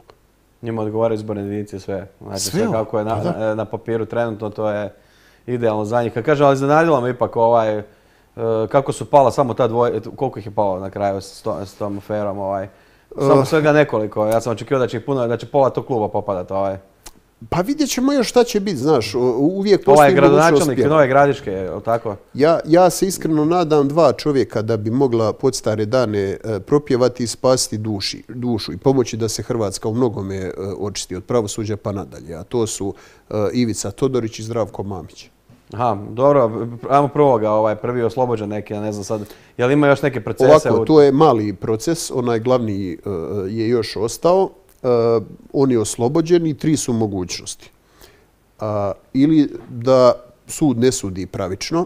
Njima odgovara izborne jedinice sve. Znači sve, sve kako je na, na, na papiru trenutno, to je idealno za njih. Kad kažem, ali iznenadilo me ipak ovaj, kako su pala samo ta dvoje, koliko ih je palo na kraju s, to, s tom aferom, ovaj. Samo svega nekoliko. Ja sam očekivao da će ih puno, da će pola tog kluba popadati, ovaj. Pa vidjet ćemo još šta će biti, znaš, uvijek postoji ovaj gradonačelnik Nove Gradiške, je li tako? Ja, ja se iskreno nadam dva čovjeka da bi mogla podstare dane propjevati i spasiti duši, dušu i pomoći da se Hrvatska u mnogome očisti od pravosuđa pa nadalje. A to su Ivica Todorić i Zdravko Mamić. Aha, dobro, ajmo prvoga, ovaj, prvi oslobođen neki, ja ne znam sad, je li ima još neke procese? Ovako, to je mali proces, onaj glavni uh, je još ostao, uh, on je oslobođen i tri su mogućnosti. Uh, ili da sud ne sudi pravično,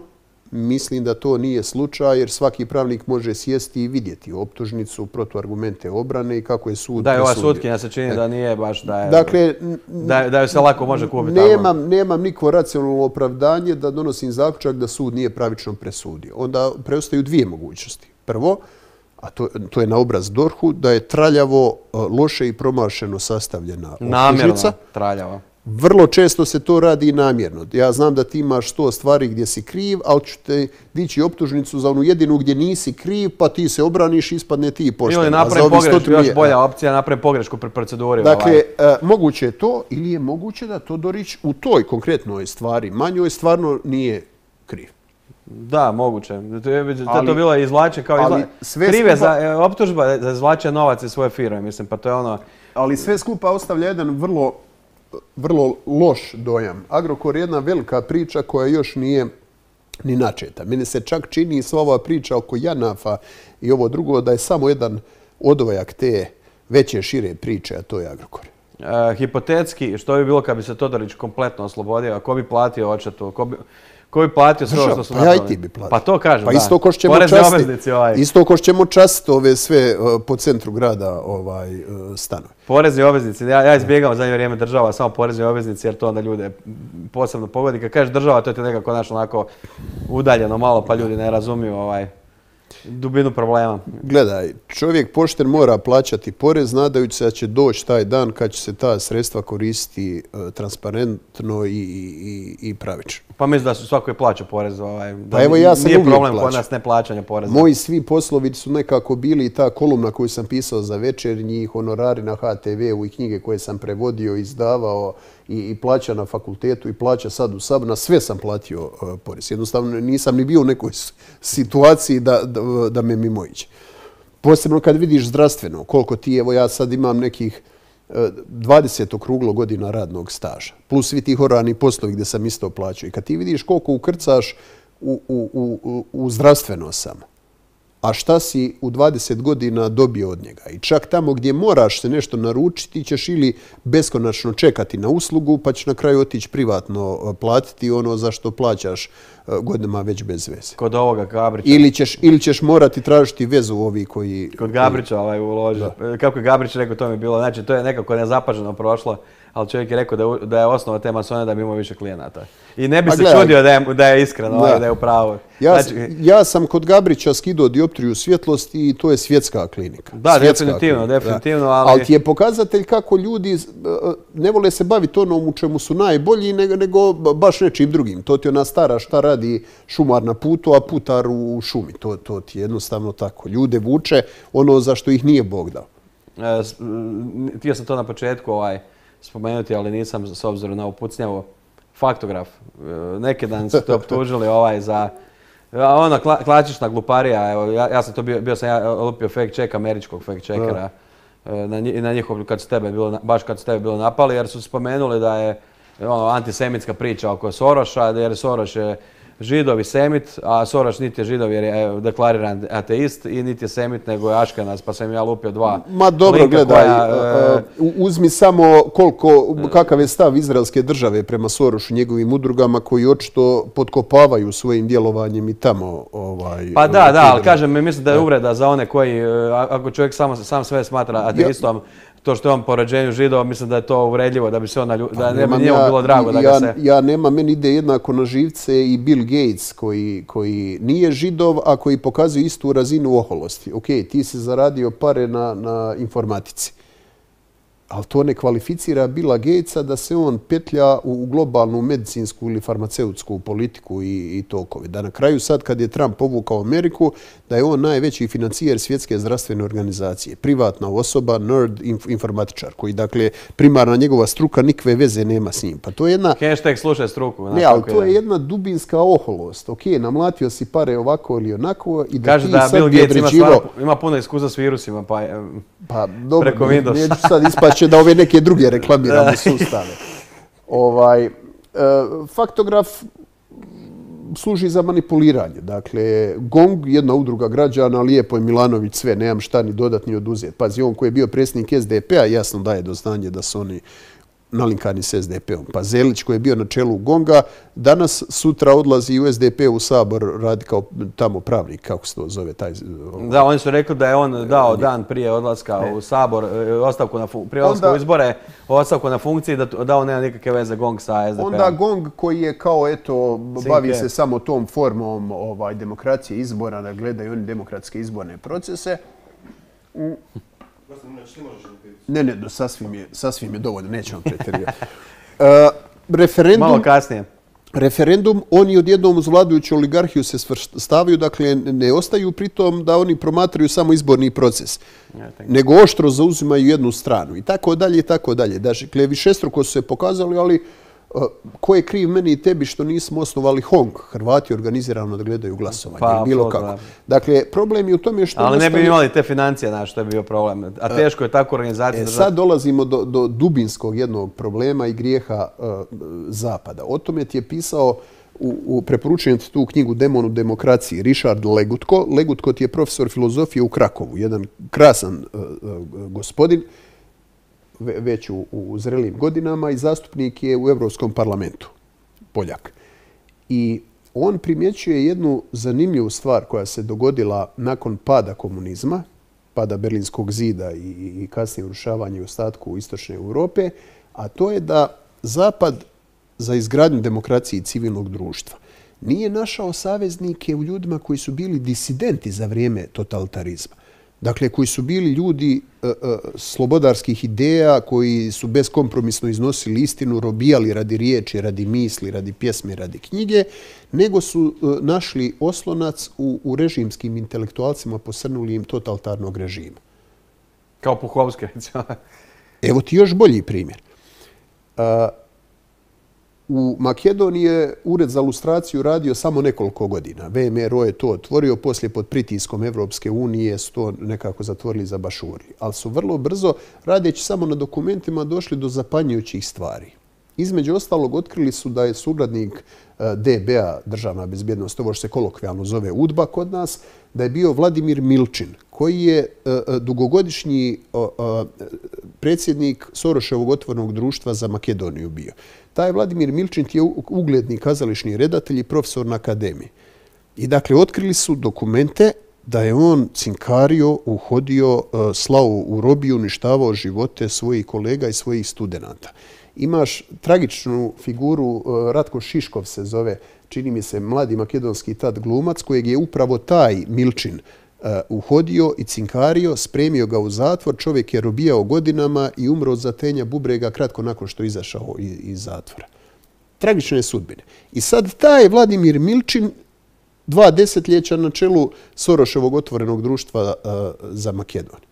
mislim da to nije slučaj jer svaki pravnik može sjesti i vidjeti optužnicu, protuargumente obrane i kako je sud presudio. Da, ova sutkinja se čini da nije baš da je, dakle, da, da je se lako može kupiti. Nemam, nemam nikvo racionalno opravdanje da donosim zaključak da sud nije pravično presudio. Onda preostaju dvije mogućnosti. Prvo, a to, to je na obraz dorhu, da je traljavo, loše i promašeno sastavljena optužnica. Namjerno traljavo. Vrlo često se to radi i namjerno. Ja znam da ti imaš sto stvari gdje si kriv, ali ću te dići optužnicu za onu jedinu gdje nisi kriv, pa ti se obraniš, ispadne ti pošteno. Ili napravi pogrešku, još bolja opcija, napravi pogrešku pri proceduri. Dakle, ovaj. moguće je to ili je moguće da Todorić u toj konkretnoj stvari, manjoj, stvarno nije kriv. Da, moguće. To je to bilo izvlače kao izvlače. Krive skupa, za optužba za izvlače novac iz svoje firme, mislim, pa to je ono... Ali sve skupa ostavlja jedan vrlo vrlo loš dojam. Agrokor je jedna velika priča koja još nije ni načeta. Meni se čak čini sva ova priča oko Janafa i ovo drugo da je samo jedan odvojak te veće, šire priče, a to je Agrokor. E, hipotetski, što bi bilo kad bi se Todorić kompletno oslobodio? Ko bi platio odštetu? Ko bi, Ko bi platio sve ovo što su pa ja i napravili? ti bi platio. Pa to kažem, Pa da. isto ko što ćemo Porezni časti, obveznici ovaj. isto ko što ćemo častiti ove sve uh, po centru grada ovaj, uh, stanove. Porezni obveznici, ja, ja izbjegavam zadnje vrijeme država, samo porezni obveznici jer to onda ljude posebno pogodi. Kad kažeš država, to je ti nekako naš onako udaljeno malo pa ljudi ne razumiju ovaj, dubinu problema. Gledaj, čovjek pošten mora plaćati porez nadajući se da će doći taj dan kad će se ta sredstva koristiti uh, transparentno i, i, i pravično. Pa mislim da su svako je plaća porez. Ovaj, da Pa evo ja sam nije uvijek problem kod plaćao. nas neplaćanja poreza. Moji svi poslovi su nekako bili i ta kolumna koju sam pisao za Večernji, honorari na ha te veu i knjige koje sam prevodio, izdavao i, i plaća na fakultetu i plaća sad u Saboru. Na sve sam platio uh, porez. Jednostavno nisam ni bio u nekoj situaciji da, da, da me mimoiđe. Posebno kad vidiš zdravstveno, koliko ti, evo ja sad imam nekih dvadeset okruglo godina radnog staža, plus svi ti horarni poslovi gdje sam isto plaćao. I kad ti vidiš koliko ukrcaš u, u, u, u zdravstveno samo, a šta si u dvadeset godina dobio od njega. I čak tamo gdje moraš se nešto naručiti, ćeš ili beskonačno čekati na uslugu, pa ćeš na kraju otići privatno platiti ono za što plaćaš godinama već bez veze. Kod ovoga Gabrića. Ili ćeš, ili ćeš morati tražiti vezu ovi koji... Kod Gabrića ovaj uloži. Kako je Gabrić rekao, to mi je bilo. Znači, to je nekako nezapaženo prošlo, ali čovjek je rekao da, je, da je osnova te masone da bi imao više klijenata. I ne bi A se gledaj, čudio da je, da je iskreno, da. da je u pravu. Ja, Znači, ja sam kod Gabrića skidao dioptriju svjetlosti i to je svjetska klinika. Da, Svjetska definitivno, klinika, definitivno, da. ali... Ali ti je pokazatelj kako ljudi ne vole se baviti onom u čemu su najbolji, nego, nego baš nečim drugim. To ti ona stara šta radi šumar na putu, a putar u šumi. To, to ti je jednostavno tako. Ljude vuče ono za što ih nije Bog dao. E, htio sam to na početku ovaj, spomenuti, ali nisam s obzirom na upucnjavu. Faktograf. Neki dan su to optužili ovaj za... Ono, kla, klasična gluparija. Evo, ja, ja sam to bio, bio sam ja lupio fact check američkog fact checkera. Na, na njihov, kad su tebe bilo, baš kad su tebe bilo napali, jer su spomenuli da je ono, antisemitska priča oko Soroša, jer Soroš je Židov i semit, a Soroš niti je Židov jer je deklariran ateist i niti je semit, nego je Aškenas, pa sam ja lupio dva. Ma dobro, gledaj, koja, uh, uzmi samo koliko, kakav je stav izraelske države prema Sorošu, njegovim udrugama koji očito potkopavaju svojim djelovanjem i tamo. Ovaj, pa da, da, ali kažem, mislim da je uvreda za one koji, ako čovjek sam, sam sve smatra ateistom, to što je on po rođenju Židova, mislim da je to uvredljivo, da bi se on na da ne bi njemu bilo drago da ga ja, se... Ja nema, meni ide jednako na živce i Bill Gates koji, koji nije Židov, a koji pokazuje istu razinu oholosti. Ok, ti si zaradio pare na, na informatici, ali to ne kvalificira Billa Gatesa da se on petlja u globalnu medicinsku ili farmaceutsku politiku i, i tokove. Da na kraju sad kad je Trump povukao Ameriku, da je on najveći financijer svjetske zdravstvene organizacije. Privatna osoba, nerd, inf, informatičar, koji dakle primarna njegova struka nikve veze nema s njim. Pa to je jedna... Hashtag slušaj struku. Ne, ali to je jedna dubinska oholost. Ok, namlatio si pare ovako ili onako i da kaže ti da sad Bill bi Gates ima, određivao... stvarno, ima puno iskustva s virusima, pa... Pa dobro, preko Windowsa. neću sad ispaće da ove neke druge reklamiramo sustave. Ovaj, e, faktograf služi za manipuliranje. Dakle, GONG, jedna udruga građana, lijepo je Milanović sve, nemam šta ni dodat ni oduzeti. Pazi, on koji je bio predsjednik es de pe a, jasno daje do znanja da su oni nalinkani s es de pe om. Pa Zelić koji je bio na čelu GONG-a, danas sutra odlazi u es de pe u Sabor radi kao tamo pravnik, kako se to zove taj... Da, oni su rekli da je on dao dan prije odlaska u Sabor, ostavku na prije odlaska u izbore, ostavku na funkciji da, da on nema nikakve veze GONG sa es de pe om. Onda GONG koji je kao, eto, bavi se samo tom formom ovaj, demokracije izbora, da gledaju oni demokratske izborne procese. U... Ne, ne, do, sasvim, je, sasvim je dovoljno, nećemo pretjerivati. Uh, referendum, Malo kasnije. Referendum, oni odjednom uz vladajuću oligarhiju se svrstavaju, dakle ne ostaju pri tom da oni promatraju samo izborni proces, ja, nego oštro zauzimaju jednu stranu i tako dalje i tako dalje. Dakle, višestruko su se pokazali, ali uh, ko je kriv meni i tebi što nismo osnovali Hong? Hrvati organizirano da gledaju glasovanje, pa, bilo kako. Da. Dakle, problem je u tome što... Ali ne bi imali te financije, znaš, što je bio problem. A teško je tako organizacija... E, sad dolazimo do, do dubinskog jednog problema i grijeha uh, Zapada. O tome ti je pisao, u, u preporučujem ti tu knjigu Demon u demokraciji, Richard Legutko. Legutko ti je profesor filozofije u Krakovu, jedan krasan uh, uh, gospodin, već u, u zrelim godinama i zastupnik je u Europskom parlamentu, Poljak. I on primjećuje jednu zanimljivu stvar koja se dogodila nakon pada komunizma, pada Berlinskog zida i, i kasnije urušavanje u ostatku istočne Europe, a to je da Zapad za izgradnju demokracije i civilnog društva nije našao saveznike u ljudima koji su bili disidenti za vrijeme totalitarizma. Dakle, koji su bili ljudi e, e, slobodarskih ideja, koji su beskompromisno iznosili istinu, robijali radi riječi, radi misli, radi pjesme, radi knjige, nego su e, našli oslonac u, u režimskim intelektualcima posrnulijim totalitarnog režima. Kao Puhovski, recimo. Evo ti još bolji primjer. A, u Makedoniji je Ured za lustraciju radio samo nekoliko godina. V M R O je to otvorio, poslije pod pritiskom Evropske unije su to nekako zatvorili za bašurli. Ali su vrlo brzo, radeći samo na dokumentima, došli do zapanjujućih stvari. Između ostalog, otkrili su da je suradnik D B A, Državna bezbjednost, ovo što se kolokvijalno zove U D B A kod nas, da je bio Vladimir Milčin, koji je dugogodišnji predsjednik Soroševog otvorenog društva za Makedoniju bio. Taj Vladimir Milčin je ugledni kazališni redatelj i profesor na akademiji. I dakle, otkrili su dokumente da je on cinkario, uhodio, slao u robiju, uništavao živote svojih kolega i svojih studenata. Imaš tragičnu figuru, Ratko Šiškov se zove, čini mi se mladi makedonski tad glumac, kojeg je upravo taj Milčin uh, uhodio i cinkario, spremio ga u zatvor, čovjek je robijao godinama i umro od zatenja bubrega kratko nakon što je izašao iz, iz zatvora. Tragične sudbine. I sad taj Vladimir Milčin, dva desetljeća na čelu Soroševog otvorenog društva uh, za Makedoniju.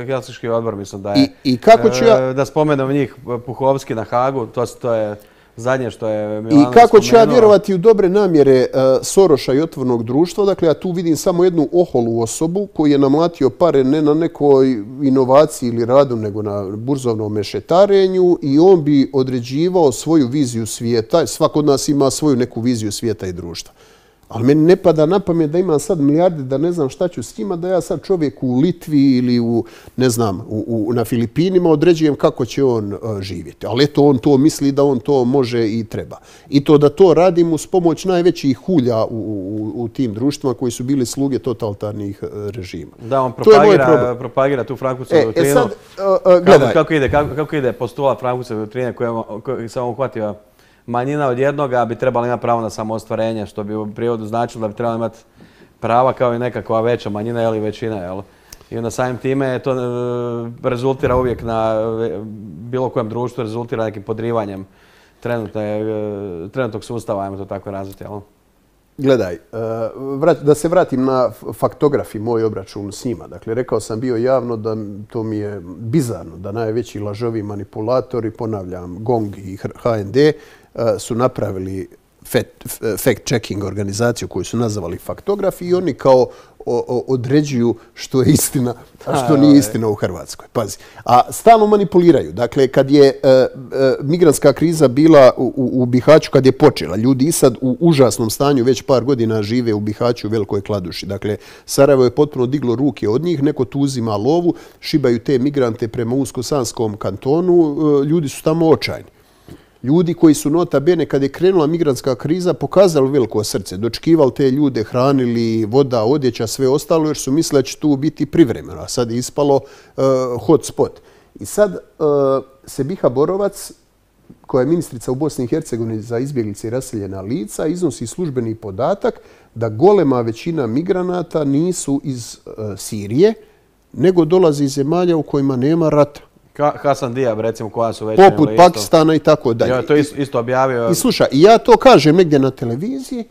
Helsinški odbor, mislim da je, I, i kako ću ja, da spomenem njih, Puhovski na Hagu, to, to je zadnje što je Milanović I kako ću ja spomenuo. vjerovati u dobre namjere uh, Soroša i otvorenog društva, dakle ja tu vidim samo jednu oholu osobu koji je namlatio pare ne na nekoj inovaciji ili radu, nego na burzovnom mešetarenju i on bi određivao svoju viziju svijeta. Svako od nas ima svoju neku viziju svijeta i društva. Ali meni ne pada na pamet da imam sad milijarde, da ne znam šta ću s njima, da ja sad čovjek u Litvi ili u, ne znam, u, u, na Filipinima određujem kako će on uh, živjeti. Ali eto, on to misli da on to može i treba. I to da to radim uz pomoć najvećih hulja u, u, u tim društvima koji su bili sluge totalitarnih uh, režima. Da, on propagira, propagira tu Frankfurtsovu doktrinu. E, e sad, uh, uh, gledaj. Kako, kako, ide, kako, kako ide postulat Frankfurtsove doktrine koja sam uhvatio manjina od jednoga bi trebala imati pravo na samoostvarenje, što bi u prijevodu značilo da bi trebala imati prava kao i nekakva veća manjina ili većina. Jel? I onda samim time to rezultira uvijek na bilo kojem društvu, rezultira nekim podrivanjem trenutnog sustava, ajmo to tako razviti. Jel? Gledaj, da se vratim na faktograf i moj obračun s njima. Dakle, rekao sam bio javno da to mi je bizarno, da najveći lažovi manipulatori, ponavljam, Gong i H N D, su napravili fact-checking organizaciju koju su nazvali faktografi i oni kao određuju što je istina, a što nije istina u Hrvatskoj. Pazi. A stalno manipuliraju. Dakle, kad je e, e, migrantska kriza bila u, u, u Bihaću, kad je počela, ljudi i sad u užasnom stanju već par godina žive u Bihaću u Velikoj Kladuši. Dakle, Sarajevo je potpuno diglo ruke od njih, neko tu uzima lovu, šibaju te migrante prema Unsko-Sanskom kantonu, e, ljudi su tamo očajni. Ljudi koji su nota bene, kad je krenula migrantska kriza, pokazali veliko srce, dočekivali te ljude, hranili, voda, odjeća, sve ostalo, jer su mislili da će tu biti privremeno, a sad je ispalo uh, hot spot. I sad uh, Sebiha Borovac, koja je ministrica u Bosni i Hercegovini za izbjeglice i raseljena lica, iznosi službeni podatak da golema većina migranata nisu iz uh, Sirije, nego dolazi iz zemalja u kojima nema rata. Hasan Diab, recimo, koja su već... Poput Pakistana i tako dalje. Ja to isto objavio. I slušaj, ja to kažem negdje na televiziji,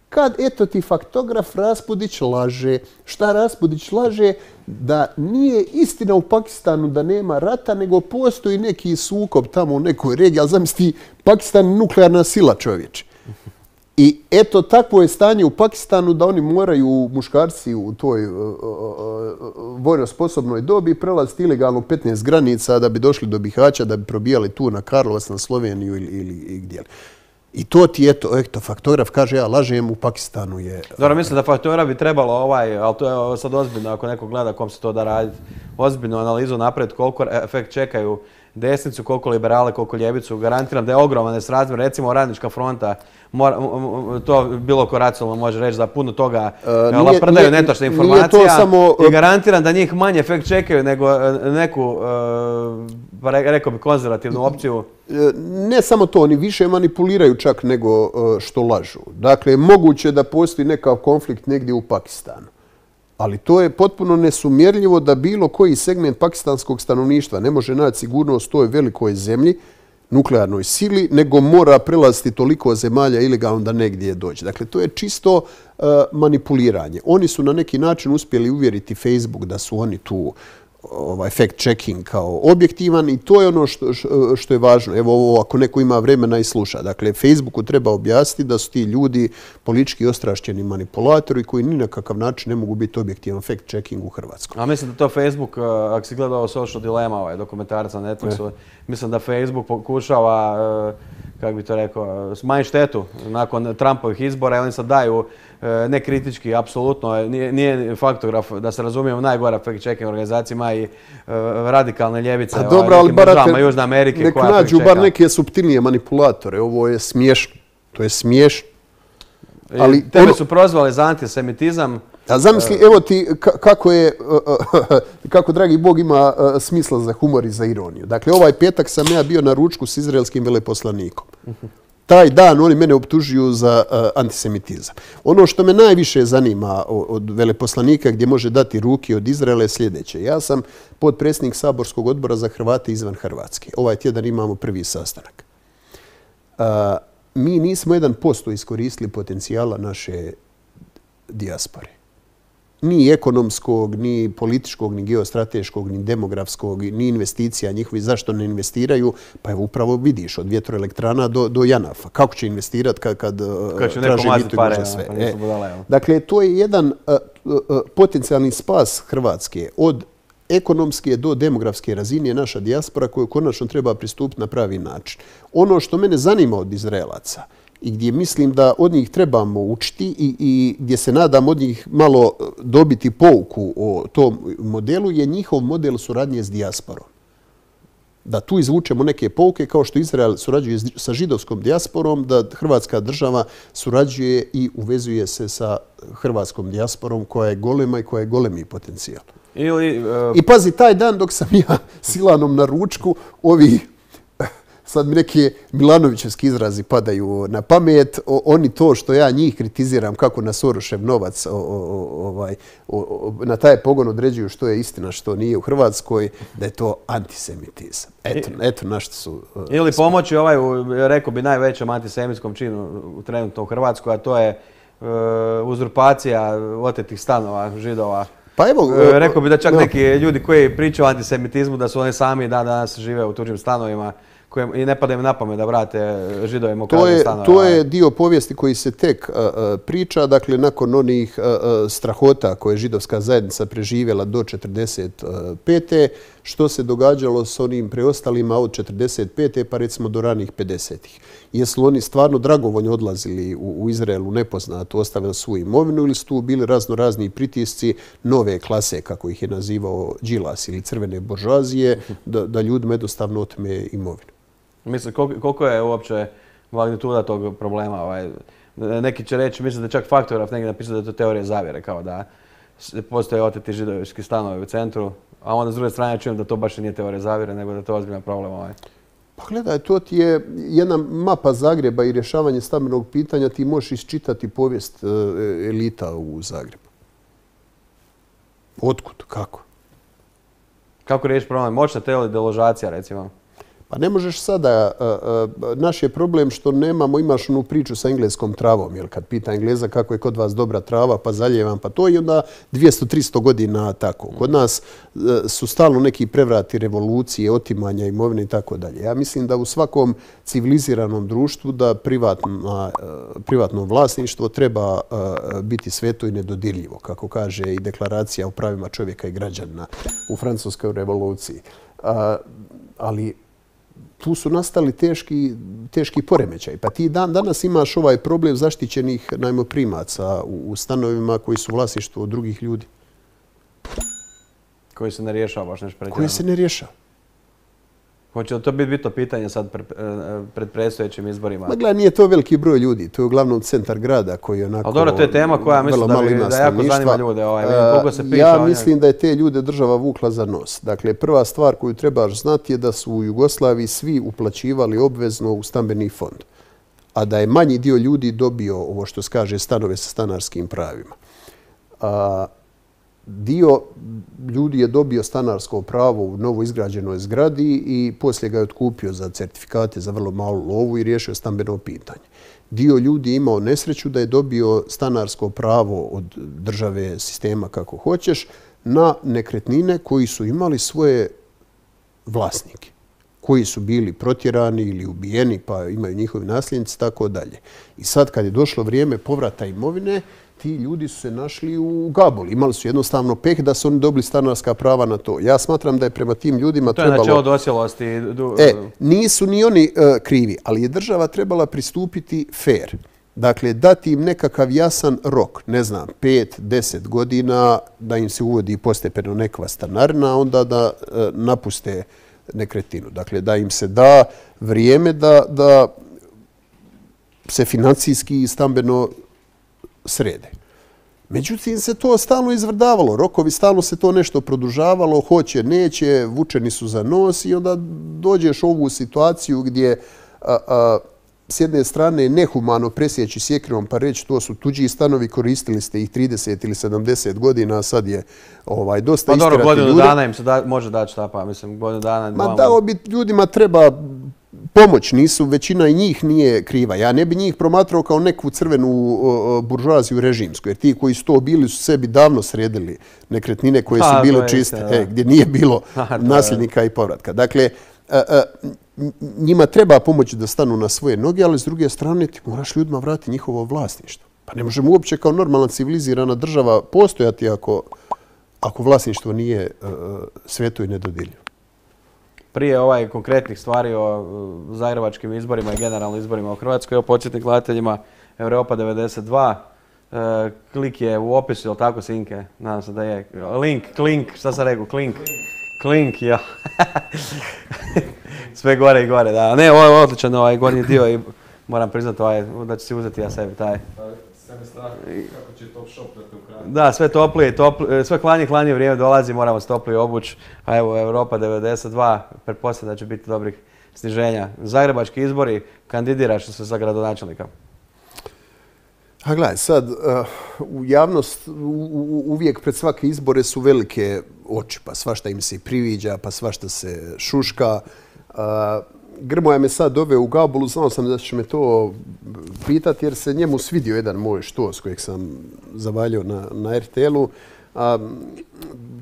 kad eto ti faktograf Raspudić laže. Šta Raspudić laže? Da nije istina u Pakistanu da nema rata, nego postoji neki sukob tamo u nekoj regiji, ali zamisli, Pakistan je nuklearna sila, čovječe. I eto, takvo je stanje u Pakistanu da oni moraju, muškarci u toj uh, uh, vojno sposobnoj dobi, prelaziti ilegalno petnaest granica da bi došli do Bihaća, da bi probijali tu na Karlovac, na Sloveniju ili, ili, ili gdje. I to ti eto, eto, faktograf kaže, ja lažem, u Pakistanu je... Dobro, mislim da faktograf bi trebalo ovaj, ali to je sad ozbiljno ako neko gleda kom se to da raditi, ozbiljnu analizu napraviti koliko efekt čekaju desnicu, koliko liberale, koliko ljevicu. Garantiram da je ogroman nesrazmjer. Recimo Radnička fronta, mora, to bilo ko racionalno može reći da puno toga uh, laprdaju netočne informacija samo, i garantiram da njih manje efekt čekaju nego neku, uh, rekao bi, konzervativnu opciju. Ne samo to, oni više manipuliraju čak nego uh, što lažu. Dakle, moguće da postoji nekav konflikt negdje u Pakistanu. Ali to je potpuno nesumjerljivo da bilo koji segment pakistanskog stanovništva ne može naći sigurnost u toj velikoj zemlji, nuklearnoj sili, nego mora prelaziti toliko zemalja ilegalno da negdje dođe. Dakle, to je čisto uh, manipuliranje. Oni su na neki način uspjeli uvjeriti Facebook da su oni tu ovaj fact checking kao objektivan i to je ono što, što je važno. Evo ovo, ako neko ima vremena i sluša. Dakle, Facebooku treba objasniti da su ti ljudi politički ostrašćeni manipulatori koji ni na kakav način ne mogu biti objektivan fact checking u Hrvatskoj. A mislim da to Facebook, ako si gledao Social Dilemma, ovaj dokumentarac na Netflixu, mislim da Facebook pokušava, kako bi to rekao, smanjiti štetu nakon Trumpovih izbora i oni sad daju nekritički, apsolutno, nije, nije faktograf, da se razumijemo, najgora fact-checking organizacija, ima i uh, radikalne ljevice A dobro, ali barate, Južne Amerike. Nek nađu bar neke suptilnije manipulatore, ovo je smiješno, to je smiješno. Ali tebe ono... su prozvali za antisemitizam. A zamisli, evo ti kako je, kako dragi Bog ima smisla za humor i za ironiju. Dakle, ovaj petak sam ja bio na ručku s izraelskim veleposlanikom. Taj dan oni mene optužuju za uh, antisemitizam. Ono što me najviše zanima od veleposlanika gdje može dati ruke od Izraela je sljedeće. Ja sam potpredsjednik Saborskog odbora za Hrvate izvan Hrvatske. Ovaj tjedan imamo prvi sastanak. Uh, mi nismo jedan posto iskoristili potencijala naše dijaspore. Ni ekonomskog, ni političkog, ni geostrateškog, ni demografskog, ni investicija njihovi. Zašto ne investiraju? Pa evo upravo vidiš, od vjetroelektrana do, do Janafa. Kako će investirati kad, kad, kad traži mitu i može sve? Pa e. budala, dakle, to je jedan uh, uh, potencijalni spas Hrvatske od ekonomske do demografske razine je naša dijaspora koju konačno treba pristupiti na pravi način. Ono što mene zanima od Izraelaca i gdje mislim da od njih trebamo učiti i, i gdje se nadam od njih malo dobiti pouku o tom modelu je njihov model suradnje s dijasporom. Da tu izvučemo neke pouke kao što Izrael surađuje sa židovskom dijasporom, da Hrvatska država surađuje i uvezuje se sa hrvatskom dijasporom koja je golema i koja je golemi potencijal. Ili, uh... I pazi, taj dan dok sam ja Silanom na ručku, ovi sad mi neke Milanovićevski izrazi padaju na pamet, o, oni to što ja njih kritiziram kako na Sorošev novac o, o, ovaj, o, o, na taj pogon određuju što je istina, što nije u Hrvatskoj, da je to antisemitizam. Eto, eto na što su... Uh, ili pomoći ovaj, rekao bi, najvećem antisemitskom činu trenutno u Hrvatskoj, a to je uh, uzurpacija otetih stanova Židova. Pa evo, rekao bi da čak no. neki ljudi koji pričaju o antisemitizmu da su oni sami da danas žive u tuđim stanovima koje, i ne pada im na pamet da vrate Židovima u krađe stanove. To je dio povijesti koji se tek uh, priča. Dakle, nakon onih uh, strahota koje je židovska zajednica preživjela do četrdeset pete što se događalo s onim preostalima od četrdeset pete pa recimo do ranih pedesetih. Jesu oni stvarno dragovoljno odlazili u, u Izraelu nepoznato, ostavili svoju imovinu ili su tu bili razno razni pritisci nove klase, kako ih je nazivao Đilas ili crvene buržoazije, da, da ljudima jednostavno otme imovinu. Mislim, koliko, koliko je uopće magnituda tog problema? Ovaj, neki će reći, mislim da čak faktograf negdje napisao da je to teorija zavjere, kao da postoje oteti židovski stanovi u centru, a onda s druge strane čujem da to baš nije teorija zavjere, nego da je to ozbiljan problem. Ovaj. Pa gledaj, to ti je jedna mapa Zagreba i rješavanje stambenog pitanja, ti možeš isčitati povijest elita u Zagrebu. Otkud? Kako? Kako riješiti problem? Moćna teledeložacija, recimo? Pa ne možeš sada, naš je problem što nemamo, imaš onu priču sa engleskom travom, jer kad pita Engleza kako je kod vas dobra trava, pa zaljevam, pa to i onda dvjesto do tristo godina tako. Kod nas su stalno neki prevrati, revolucije, otimanja imovine i tako dalje. Ja mislim da u svakom civiliziranom društvu da privatna, privatno vlasništvo treba biti sveto i nedodirljivo, kako kaže i deklaracija o pravima čovjeka i građana u Francuskoj revoluciji. Ali tu su nastali teški, teški poremećaj. Pa ti dan danas imaš ovaj problem zaštićenih najmoprimaca u, u stanovima koji su vlasništvo drugih ljudi. Koji se ne rješava baš nešto pretjerano. Koji se ne rješava. Hoće li to biti bitno pitanje sad pred, pred predstojećim izborima? Ma gledaj, nije to veliki broj ljudi, to je uglavnom centar grada koji onako... Ali dobro, to je tema koja mislim da, bi, da jako zanima ljude. Ovaj, koliko se priča ja mislim da je te ljude država vukla za nos. Dakle, prva stvar koju trebaš znati je da su u Jugoslaviji svi uplaćivali obvezno u stambeni fond. A da je manji dio ljudi dobio ovo što se kaže stanove sa stanarskim pravima. A, dio ljudi je dobio stanarsko pravo u novo izgrađenoj zgradi i poslije ga je otkupio za certifikate za vrlo malu lovu i riješio stambeno pitanje. Dio ljudi je imao nesreću da je dobio stanarsko pravo od države, sistema kako hoćeš, na nekretnine koji su imali svoje vlasnike, koji su bili protjerani ili ubijeni pa imaju njihovi nasljednici, tako dalje. I sad kad je došlo vrijeme povrata imovine, ti ljudi su se našli u gabuli. Imali su jednostavno peh da su oni dobili stanarska prava na to. Ja smatram da je prema tim ljudima trebalo... To je načelo dosjelosti. E, nisu ni oni uh, krivi, ali je država trebala pristupiti fair. Dakle, dati im nekakav jasan rok, ne znam, pet, deset godina, da im se uvodi postepeno nekva stanarina, onda da uh, napuste nekretninu. Dakle, da im se da vrijeme da, da se financijski i stambeno srede. Međutim, se to stalno izvrdavalo. Rokovi stalno se to nešto produžavalo, hoće, neće, vučeni su za nos i onda dođeš u ovu situaciju gdje a, a, s jedne strane nehumano presjeći sjekirom pa reći to su tuđi stanovi, koristili ste ih trideset ili sedamdeset godina, a sad je ovaj, dosta istirati ljude. Pa dobro, godinu dana im se da, može dati šta pa, mislim, godinu dana... Ma dao bi ljudima treba pomoć, nisu, većina i njih nije kriva. Ja ne bi njih promatrao kao neku crvenu buržoaziju režimsku, jer ti koji su to bili su sebi davno sredili nekretnine koje su bile čiste, e, gdje nije bilo nasljednika i povratka. Dakle, a, a, njima treba pomoći da stanu na svoje noge, ali s druge strane ti moraš ljudima vratiti njihovo vlasništvo. Pa ne možemo uopće kao normalna civilizirana država postojati ako, ako vlasništvo nije uh, sveto i nedodirljivo. Prije ovaj konkretnih stvari o zagrebačkim izborima i generalno izborima u Hrvatskoj, o podsjetnik gledateljima Europa devedeset dva, uh, klik je u opisu, je li tako, Sinke? Nadam se da je. Link, klink, šta sam rekao, klink. Klink, ja. Sve gore i gore, da. Ne, ovo je odličan ovaj gornji dio i moram priznati ovaj, da ću si uzeti ja sebi taj. Sve mi strah kako će Top Shop da te ukrade. Da, sve toplije, toplije, sve klanje, klanje vrijeme dolazi, moramo se toplije obući. A evo, Europa devedeset dva, pretpostavljam da će biti dobrih sniženja. Zagrebački izbori, kandidiraš se za gradonačelnika. A gledaj, sad, uh, u javnost u, u, uvijek pred svake izbore su velike oči, pa svašta im se priviđa, pa svašta se šuška. Uh, Grmoja me sad doveo u gabulu, znao sam da će me to pitati jer se njemu svidio jedan moj štos kojeg sam zavaljio na, na er te el-u. A,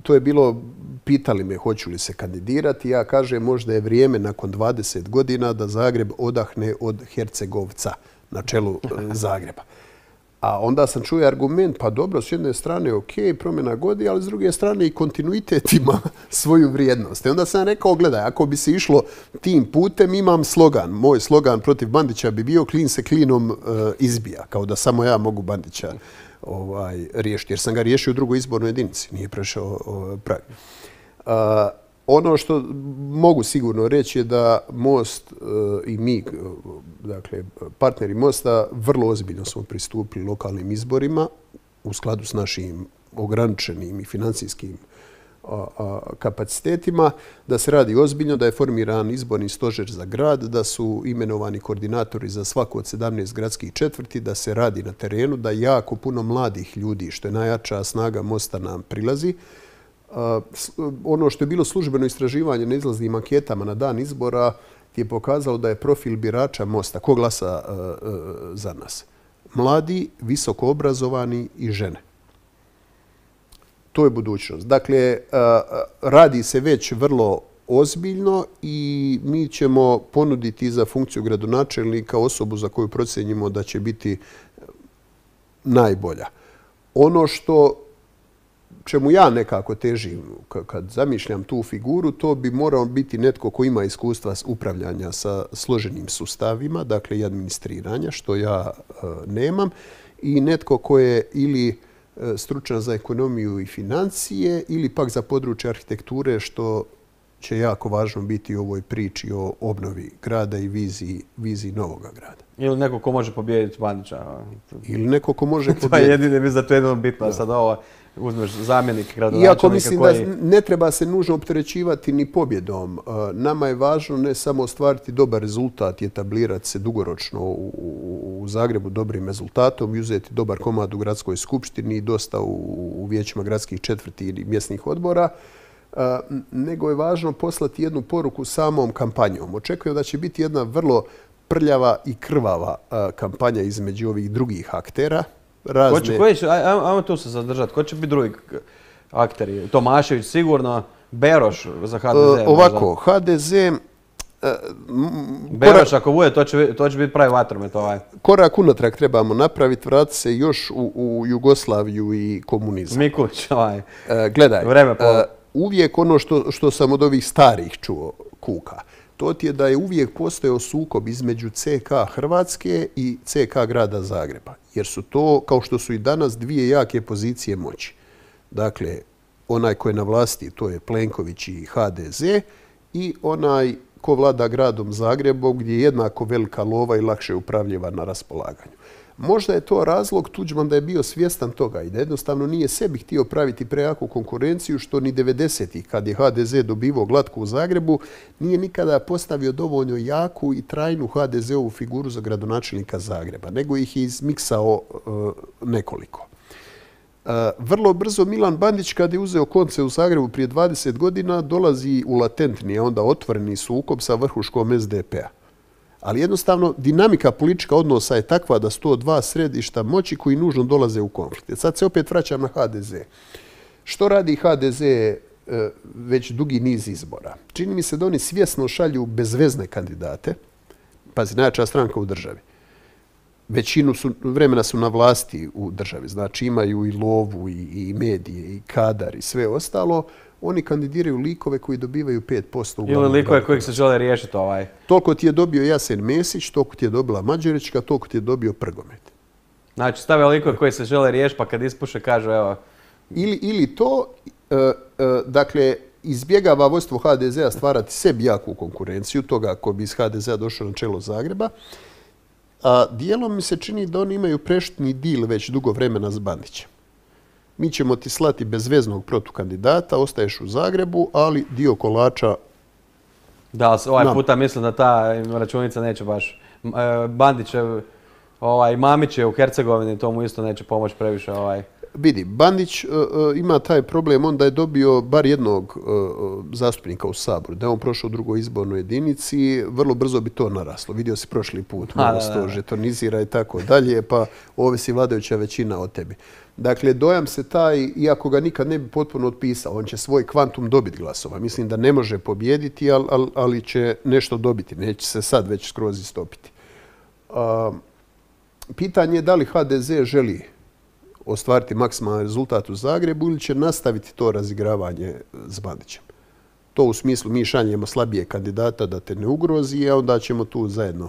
to je bilo, pitali me hoću li se kandidirati. Ja kažem možda je vrijeme nakon dvadeset godina da Zagreb odahne od Hercegovca na čelu Zagreba. A onda sam čuo argument, pa dobro, s jedne strane ok, promjena godi, ali s druge strane i kontinuitet ima svoju vrijednost. I onda sam rekao, gledaj, ako bi se išlo tim putem, imam slogan. Moj slogan protiv Bandića bi bio klin se klinom uh, izbija, kao da samo ja mogu Bandića ovaj, riješiti. Jer sam ga riješio u drugoj izbornoj jedinici, nije prešao uh, prag. Uh, Ono što mogu sigurno reći je da Most uh, i mi, dakle partneri Mosta, vrlo ozbiljno smo pristupili lokalnim izborima u skladu s našim ograničenim i financijskim uh, uh, kapacitetima, da se radi ozbiljno, da je formiran izborni stožer za grad, da su imenovani koordinatori za svaku od sedamnaest gradskih četvrti, da se radi na terenu, da jako puno mladih ljudi, što je najjača snaga Mosta, nam prilazi. Uh, ono što je bilo službeno istraživanje na izlaznim anketama na dan izbora je pokazalo da je profil birača Mosta, ko glasa uh, uh, za nas? Mladi, visoko obrazovani i žene. To je budućnost. Dakle, uh, radi se već vrlo ozbiljno i mi ćemo ponuditi za funkciju gradonačelnika osobu za koju procjenjimo da će biti najbolja. Ono što čemu ja nekako težim kad zamišljam tu figuru, to bi morao biti netko ko ima iskustva upravljanja sa složenim sustavima, dakle i administriranja, što ja uh, nemam, i netko ko je ili stručnjak za ekonomiju i financije ili pak za područje arhitekture, što će jako važno biti u ovoj priči o obnovi grada i viziji, viziji novoga grada. Ili neko ko može pobijediti Bandića. Ili neko ko može pobijediti. To je jedino, mislim da to je jedino bitno. Da. Sad ovo uzmeš zamjenik gradonačelnika Iako mislim koji... da ne treba se nužno opterećivati ni pobjedom. Nama je važno ne samo ostvariti dobar rezultat i etablirati se dugoročno u, u, u Zagrebu dobrim rezultatom i uzeti dobar komad u gradskoj skupštini i dosta u, u vijećima gradskih četvrti ili mjesnih odbora, nego je važno poslati jednu poruku samom kampanjom. Očekujem da će biti jedna vrlo prljava i krvava kampanja između ovih drugih aktera. Razne... Ko će, koji će, ajmo, ajmo tu se zadržati. Ko će biti drugi akteri? Tomašević sigurno, Beroš za ha de ze. Uh, ovako, ha de ze... Uh, Beroš korak, ako bude, to će, to će biti pravi vatromet ovaj. Korak unatrag trebamo napraviti, vratiti se još u, u Jugoslaviju i komunizam. Mikulić, ovaj. Uh, gledaj, Vreme po... uh, uvijek ono što, što sam od ovih starih čuo kuka, to ti je da je uvijek postojao sukob između ce ka Hrvatske i ce ka grada Zagreba. Jer su to, kao što su i danas, dvije jake pozicije moći. Dakle, onaj ko je na vlasti, to je Plenković i ha de ze, i onaj ko vlada gradom Zagrebom, gdje je jednako velika lova i lakše upravljiva na raspolaganju. Možda je to razlog Tuđman da je bio svjestan toga i da jednostavno nije sebi htio praviti prejaku konkurenciju, što ni devedesetih, kad je ha de ze dobivao glatku u Zagrebu, nije nikada postavio dovoljno jaku i trajnu ha de ze-ovu figuru za gradonačelnika Zagreba, nego ih je izmiksao uh, nekoliko. Uh, vrlo brzo Milan Bandić, kad je uzeo konce u Zagrebu prije dvadeset godina, dolazi u latentni, a onda otvoreni sukob sa vrhuškom es de pe-a. Ali jednostavno dinamika politička odnosa je takva da su to dva središta moći koji nužno dolaze u konflikte. Sad se opet vraćam na ha de ze. Što radi ha de ze već dugi niz izbora? Čini mi se da oni svjesno šalju bezvezne kandidate, pazi, najjača stranka u državi. Većinu su, vremena su na vlasti u državi, znači imaju i lovu i, i medije i kadar i sve ostalo. Oni kandidiraju likove koji dobivaju pet posto. Ili likove kojih se žele riješiti ovaj. Toliko ti je dobio Jasen Mesić, toliko ti je dobila Mađarićka, toliko ti je dobio Prgomet. Znači stave likove koji se žele riješiti, pa kad ispuše kažu evo... Ili, ili to, uh, uh, dakle, izbjegava vodstvo ha de ze-a stvarati sebi jaku konkurenciju, toga ko bi iz ha de ze-a došao na čelo Zagreba. A dijelom mi se čini da oni imaju prešutni dil već dugo vremena s Bandićem. Mi ćemo ti slati bezveznog protukandidata, ostaješ u Zagrebu, ali dio kolača... Da, ovaj nam. Puta mislim da ta računica neće baš... Bandićev, ovaj, Mamić je u Hercegovini, to mu isto neće pomoći previše. Ovaj. Vidi, Bandić uh, ima taj problem, onda je dobio bar jednog uh, zastupnika u Saboru. Da je on prošao u drugoj izbornoj jedinici, vrlo brzo bi to naraslo. Vidio si prošli put, malo se to žetonizira i tako dalje, pa ovisi vladajuća većina od tebi. Dakle, dojam se taj, iako ga nikad ne bi potpuno otpisao, on će svoj kvantum dobiti glasova. Mislim da ne može pobijediti, ali, ali, ali će nešto dobiti. Neće se sad već skroz istopiti. Uh, pitanje je da li ha de ze želi ostvariti maksimalan rezultat u Zagrebu ili će nastaviti to razigravanje s Bandićem. To u smislu mi šaljemo slabije kandidata da te ne ugrozi, a onda ćemo tu zajedno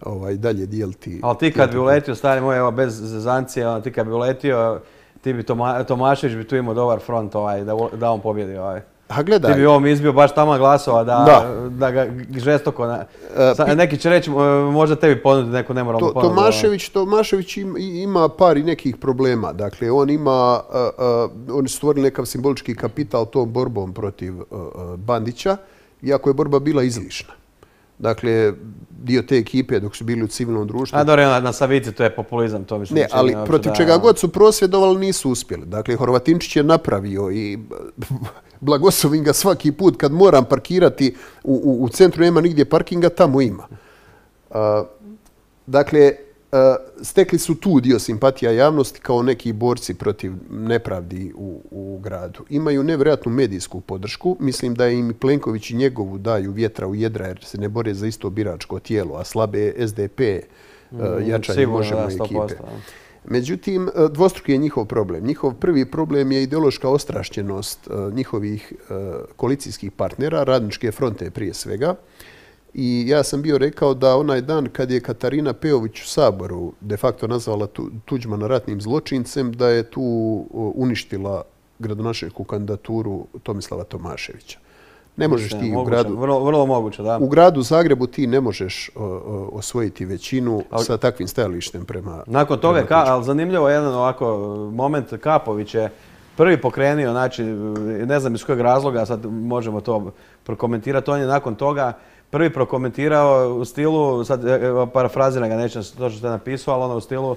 ovaj, dalje dijeliti. Ali ti kad bi uletio, stari moj, evo, bez zezancije, ti kad bi uletio, ti bi Toma, Tomašević bi tu imao dobar front ovaj, da, da on pobjedi. Ovaj. A gledaj. Ti bi ovom izbio baš tamo glasova da, da. da ga žestoko... Na, uh, neki će reći, možda tebi ponuditi neku nemoralnu to, ponudu. Tomašević, Tomašević ima, ima par i nekih problema. Dakle, on ima, uh, uh, oni su stvorili nekav simbolički kapital tom borbom protiv uh, uh, Bandića, iako je borba bila izlišna. Dakle, dio te ekipe dok su bili u civilnom društvu... A dobro, na Savici to je populizam, to mislim. Ne, ali protiv da... čega god su prosvjedovali nisu uspjeli. Dakle, Horvatinčić je napravio i blagoslovim ga svaki put kad moram parkirati u, u, u centru, nema nigdje parkinga, tamo ima. Uh, dakle, uh, stekli su tu dio simpatija javnosti kao neki borci protiv nepravdi u, u gradu. Imaju nevjerojatnu medijsku podršku. Mislim da im Plenković i njegovu daju vjetra u jedra jer se ne bore za isto biračko tijelo, a slabe es de pe uh, jačanje Možemo ekipe. Međutim, dvostruki je njihov problem. Njihov prvi problem je ideološka ostrašćenost uh, njihovih uh, koalicijskih partnera, Radničke fronte prije svega, I ja sam bio rekao da onaj dan kad je Katarina Peović u Saboru de facto nazvala Tuđmana ratnim zločincem, da je tu uništila gradonačelničku kandidaturu Tomislava Tomaševića. Ne možeš ti moguće, u gradu... Vrlo, vrlo moguće, da. U gradu Zagrebu ti ne možeš o, o, osvojiti većinu ali, sa takvim stajalištem prema... Nakon toga, prema ka, ali zanimljivo je jedan ovako moment, Kapović je prvi pokrenio, znači, ne znam iz kojeg razloga, sad možemo to prokomentirati, on je nakon toga prvi prokomentirao u stilu, sad parafraziram ga, nećem to što je napisao, ali ono u stilu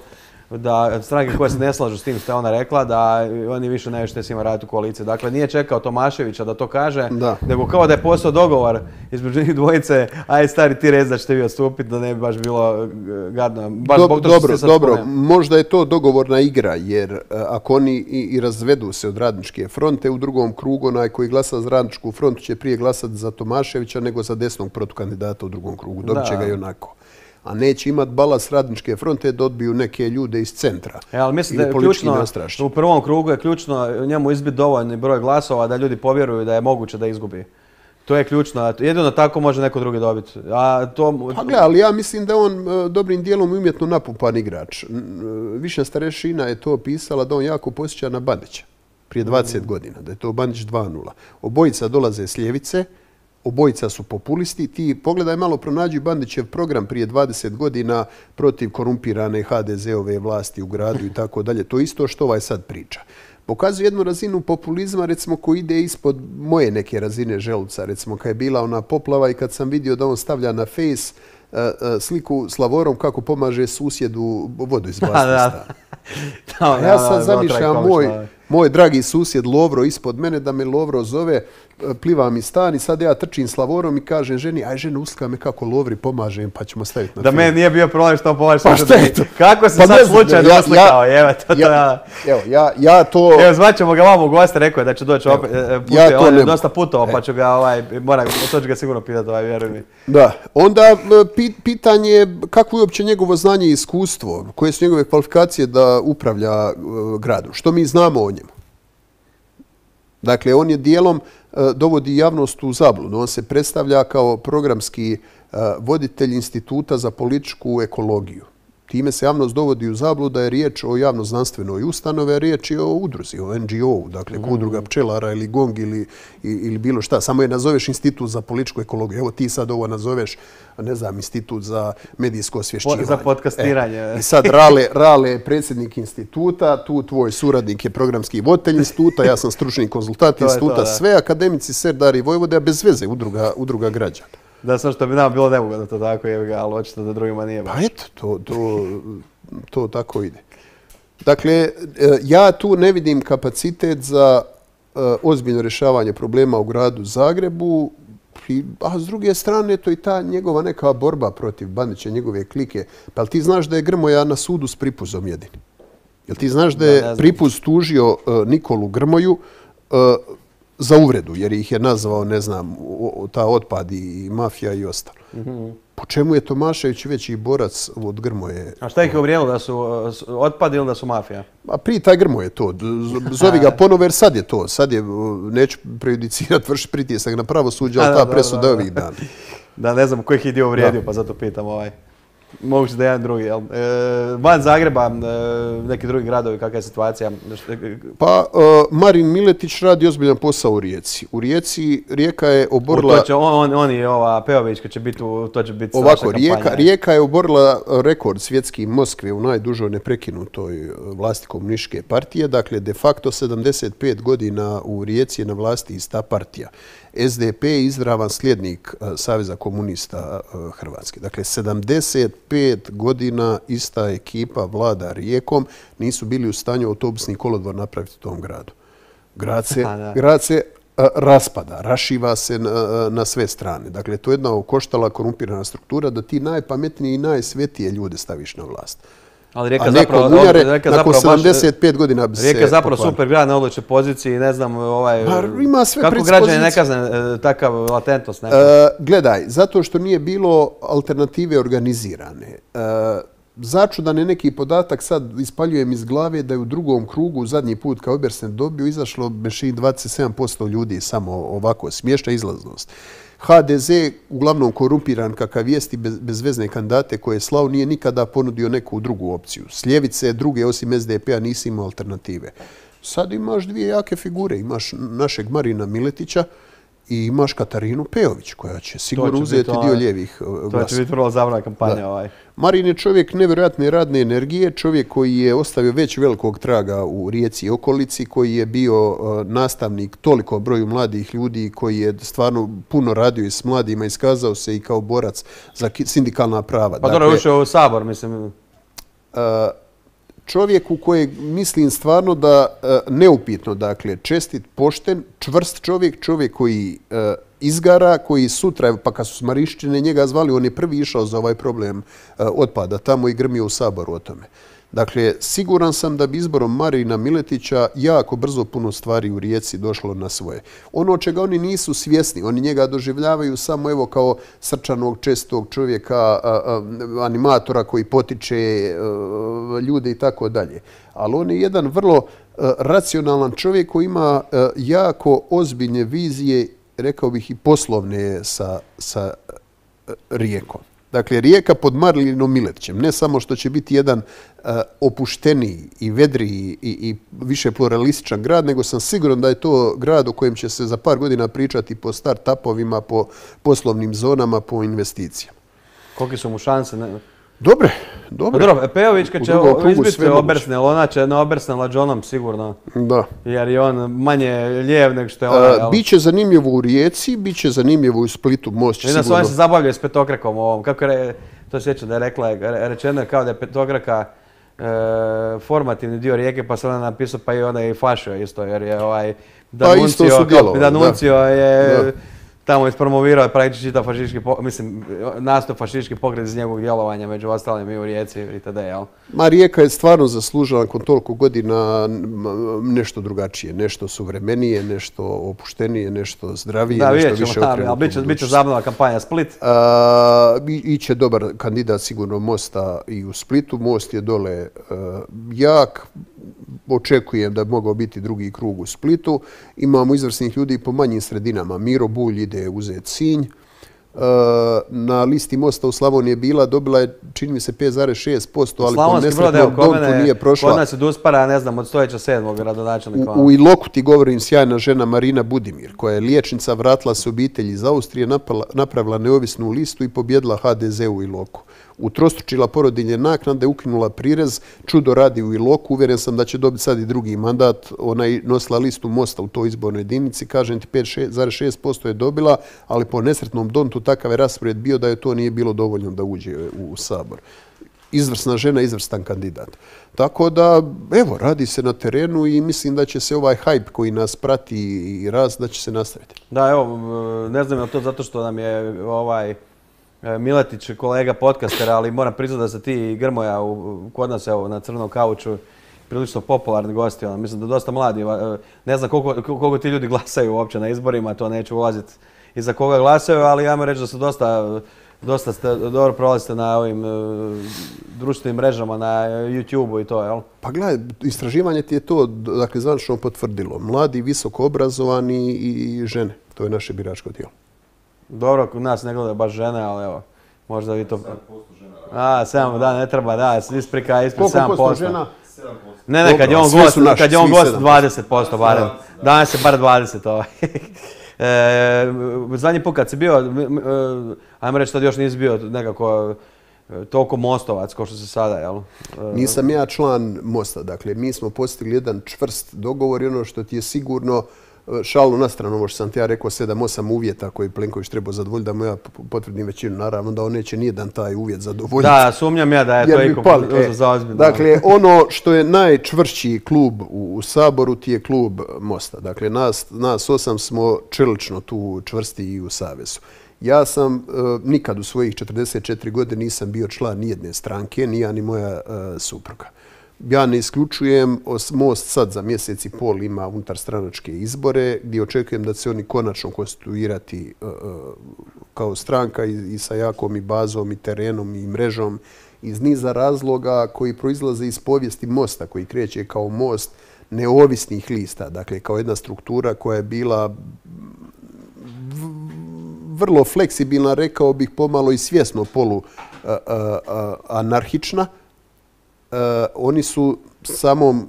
da stranke koje se ne slažu s tim što je ona rekla, da oni više ne što s njima raditi u koaliciji. Dakle, nije čekao Tomaševića da to kaže, da. nego kao da je postao dogovor između njih dvojice, aj stari ti rez da ćete vi odstupiti, da ne bi baš bilo gadno. Baš Do, to dobro, dobro. Možda je to dogovorna igra, jer ako oni i, i razvedu se od Radničke fronte, u drugom krugu onaj koji glasa za Radničku frontu će prije glasati za Tomaševića nego za desnog protukandidata u drugom krugu. Dobit će ga i onako. A neće imati balast Radničke fronte da odbiju neke ljude iz centra. E, ali mislim da je ključno, u prvom krugu je ključno njemu izbiti dovoljni broj glasova da ljudi povjeruju da je moguće da izgubi. To je ključno. Jedino tako može neko drugi dobiti. A to... Pa gle, ali ja mislim da je on dobrim dijelom umjetno napumpan igrač. Višnja Starešina je to pisala da on jako posjeća na Bandića prije dvadeset godina, da je to Bandić dva nula. Obojica dolaze s ljevice, obojica su populisti. Ti pogledaj malo, pronađi Bandićev program prije dvadeset godina protiv korumpirane ha de ze-ove vlasti u gradu i tako dalje. To isto što ovaj sad priča. Pokazuje jednu razinu populizma, recimo, koji ide ispod moje neke razine želuca. Recimo, kad je bila ona poplava i kad sam vidio da on stavlja na face uh, uh, sliku s Lavorom kako pomaže susjedu vodu izbaciti stan. Ja sad zamišljam moj, moj dragi susjed Lovro ispod mene, da me Lovro zove, pliva mi stan i sad ja trčim s Lavorom i kažem ženi, aj žena uska me kako Lovri pomaže, pa ćemo staviti na da film. Da meni nije bio problem što on pomaže. Pa šta je to? Kako si pa sad slučajno ja, uslikao, ja, evo to. Ja, evo, ja, ja to... Evo, zvaćemo ga vamo u goste, rekao je da će doći opet, pute, ja on je dosta putovao, pa ću ga, ovaj, moram, to ću ga sigurno pitati, ovaj, vjeruj mi. Da, onda pit, pitanje je kako je uopće njegovo znanje i iskustvo, koje su njegove kvalifikacije da upravlja uh, gradom, što mi znamo o njemu. Dakle, on je dijelom dovodi javnost u zabludu. On se predstavlja kao programski voditelj Instituta za političku ekologiju. Time se javnost dovodi u zabludu da je riječ o javno-znanstvenoj ustanove, a riječ je o udruzi, o en ge o-u, dakle mm. udruga pčelara ili gong ili, ili bilo šta. Samo je nazoveš Institut za političku ekologiju. Evo ti sad ovo nazoveš, ne znam, Institut za medijsko osvješćivanje. Za podcastiranje. E, I sad Rale, Rale je predsjednik instituta, tu tvoj suradnik je programski voditelj instituta, ja sam stručni konzultant instituta, to, sve akademici Serdari Vojvode, a bez veze udruga, udruga građana. Da, sam što bi nam bilo neugodno to tako, je, ali očito da drugima nije baš. Pa eto, to, to, to tako ide. Dakle, ja tu ne vidim kapacitet za uh, ozbiljno rješavanje problema u gradu Zagrebu, i, a s druge strane to i ta njegova neka borba protiv Bandića, njegove klike. Pa li ti znaš da je Grmoja na sudu s Pripuzom jedini? Jel ti znaš da je da, Pripuz tužio uh, Nikolu Grmoju uh, za uvredu, jer ih je nazvao, ne znam, ta otpad i mafija i ostalo. Mm-hmm. Po čemu je Tomašević veći borac od Grmoje? A šta ih je uvrijedilo, da su otpad ili da su mafija? A prije taj Grmoje to. Zovi ga ponovo, jer sad je to. Sad je, neću prejudicirati, vrši pritisak na pravosuđe, ali ta presuda ovih dana. Da, ne znam kojih je dio uvrijedio, pa zato pitam ovaj. Moguće da je jedan drugi, jel? E, van Zagreba, e, neki drugi gradovi, kakva je situacija? Pa, uh, Marin Miletić radi ozbiljan posao u Rijeci. U Rijeci Rijeka je oborila... To će, on, on i ova Peovićka će biti, to će biti ovako, Rijeka, Rijeka je oborila rekord svjetski Moskve u najdužoj neprekinutoj vlasti komunističke partije. Dakle, de facto sedamdeset pet godina u Rijeci je na vlasti ista partija. es de pe je izravan slijednik uh, Saveza komunista uh, Hrvatske. Dakle, sedamdeset pet godina ista ekipa vlada Rijekom, nisu bili u stanju autobusni kolodvor napraviti u tom gradu. Grad se, grad se uh, raspada, rašiva se na, na sve strane. Dakle, to je jedna okoštala korumpirana struktura da ti najpametnije i najsvetije ljude staviš na vlast. Ali Rijeka zapravo, bunjare, Rijeka nakon zapravo sedamdeset pet godina bi se Rijeka je zapravo super grad na odličnoj poziciji, ne znam, ovaj, pa, ima sve kako građani ne kazne takav latentnost? Uh, gledaj, zato što nije bilo alternative organizirane. Uh, začudan je neki podatak, sad ispaljujem iz glave, da je u drugom krugu, zadnji put kao Obersnel dobio, izašlo mešini dvadeset sedam posto ljudi, samo ovako smješta izlaznost. ha de ze, uglavnom korumpiran kakav jest i bez, bezvezne kandidate koje je slao, nije nikada ponudio neku drugu opciju. S ljevice druge osim es de pe-a nisi imao alternative. Sad imaš dvije jake figure. Imaš našeg Marina Miletića i imaš Katarinu Pejović, koja će sigurno uzeti dio lijevih glasova. To će biti vrlo zabavna kampanja. Ovaj. Marin je čovjek nevjerojatne radne energije, čovjek koji je ostavio već velikog traga u Rijeci i okolici, koji je bio nastavnik toliko broju mladih ljudi, koji je stvarno puno radio i s mladima, iskazao se i kao borac za sindikalna prava. Pa dobro, ušao u Sabor, mislim. Čovjek u kojeg mislim stvarno da neupitno, dakle, čestit, pošten, čvrst čovjek, čovjek koji izgara, koji sutra, pa kad su s Marišćine njega zvali, on je prvi išao za ovaj problem otpada tamo i grmio u Saboru o tome. Dakle, siguran sam da bi izborom Marina Miletića jako brzo puno stvari u Rijeci došlo na svoje. Ono čega oni nisu svjesni, oni njega doživljavaju samo evo kao srčanog, čestog čovjeka, animatora koji potiče ljude i tako dalje. Ali on je jedan vrlo racionalan čovjek koji ima jako ozbiljne vizije, rekao bih i poslovne sa, sa Rijekom. Dakle, Rijeka pod Marinom Miletićem, ne samo što će biti jedan uh, opušteniji i vedriji i, i više pluralističan grad, nego sam siguran da je to grad u kojem će se za par godina pričati po start-upovima, po poslovnim zonama, po investicijama. Koliki su mu šanse? Ne? Dobre, dobre. Pa dobro, Pejović kad će izbiti Obersnel, ona će na Obersnela Johnom sigurno. Da. Jer je on manje lijev nego što je ona. Biće zanimljivo u Rijeci, biće zanimljivo u Splitu, Most će sigurno. Vidim da se zabavljaju s petokrakom ovom. Kako je, to sjećam da je rekla, rečeno je kao da je petokraka formativni dio Rijeke, pa se ona napisao pa i ona je i fašio isto, jer je ovaj D'Annunzio je tamo ispromovirao praktički čitav fašistički, mislim, nastup fašistički pokret iz njegovog djelovanja, među ostalim i u Rijeci itd. Jel? Ma Rijeka je stvarno zaslužila nakon toliko godina nešto drugačije, nešto suvremenije, nešto opuštenije, nešto zdravije, da, nešto ćemo, više da, okrenuto. Biće, biće zabavna kampanja Split. A, iće dobar kandidat sigurno Mosta i u Splitu. Most je dole a, jak. Očekujem da bi mogao biti drugi krug u Splitu. Imamo izvrsnih ljudi po manjim sredinama. Miro Bulj ide uzeti Sinj. Na listi Mosta u Slavoniji je bila, dobila je, čini mi se, pet zarez šest posto, ali po nesretnom Dontu nije prošla. Kod nas je Duspara, ne znam, od stojeća sedmog gradonačelnika. U, u Iloku ti govorim sjajna žena Marina Budimir, koja je liječnica, vratila se obitelji iz Austrije, napravila neovisnu listu i pobjedila ha de ze u Iloku. Utrostručila porodiljne naknade, ukinula prirez, čudo radi u Iloku, uvjeren sam da će dobiti sad i drugi mandat. Ona je nosila listu Mosta u toj izbornoj jedinici, kažem ti pet zarez šest posto je dobila, ali po nesretnom Dontu takav je raspored bio da je to nije bilo dovoljno da uđe u Sabor. Izvrsna žena, izvrstan kandidat. Tako da, evo, radi se na terenu i mislim da će se ovaj hajp koji nas prati i rast, da će se nastaviti. Da, evo, ne znam je to zato što nam je ovaj Miletić kolega podcastera, ali moram priznati da se ti i Grmoja u, kod nas evo, na crnom kauču prilično popularni gosti. Ono, mislim da dosta mladi. Ne znam koliko, koliko ti ljudi glasaju uopće na izborima, to neću ulaziti i za koga glasaju, ali ja moram reći da su dosta, dosta ste, dobro prolazite na ovim uh, društvenim mrežama, na YouTube-u i to, jel? Pa gledaj, istraživanje ti je to, dakle, zvanično potvrdilo. Mladi, visoko obrazovani i žene. To je naše biračko tijelo. Dobro, kod nas ne gledaju baš žene, ali evo, možda vi to... sedam posto žena. A, sedam, da, ne treba, da, isprika, ispred sedam posto. Koliko posto žena? sedam posto. Ne, ne, kad je on gost, kad je on gost dvadeset posto barem. Danas je bar dvadeset ovaj. E, zadnji put kad si bio, ajmo reći, tad još nisi bio nekako toliko mostovac kao što se sada, jel? Nisam ja član Mosta, dakle, mi smo postigli jedan čvrst dogovor i ono što ti je sigurno, šalu na stranu, ovo što sam ti ja rekao, sedam osam uvjeta koji Plenković treba zadovoljiti, da mu ja potvrdim većinu, naravno da on neće nijedan taj uvjet zadovoljiti. Da, sumnjam ja da je to iko za ozbiljno. Dakle, ono što je najčvršći klub u, u Saboru ti je klub Mosta. Dakle, nas, nas osam smo čelično tu čvrsti i u Savezu. Ja sam uh, nikad u svojih četrdeset četiri godine nisam bio član nijedne stranke, ni ja ni moja uh, supruga. Ja ne isključujem, Most sad za mjesec i pol ima unutarstranačke izbore gdje očekujem da će se oni konačno konstituirati uh, kao stranka i, i sa jakom i bazom i terenom i mrežom iz niza razloga koji proizlaze iz povijesti Mosta, koji kreće kao most neovisnih lista, dakle kao jedna struktura koja je bila vrlo fleksibilna, rekao bih pomalo i svjesno polu a, a, a, anarhična. A, oni su samom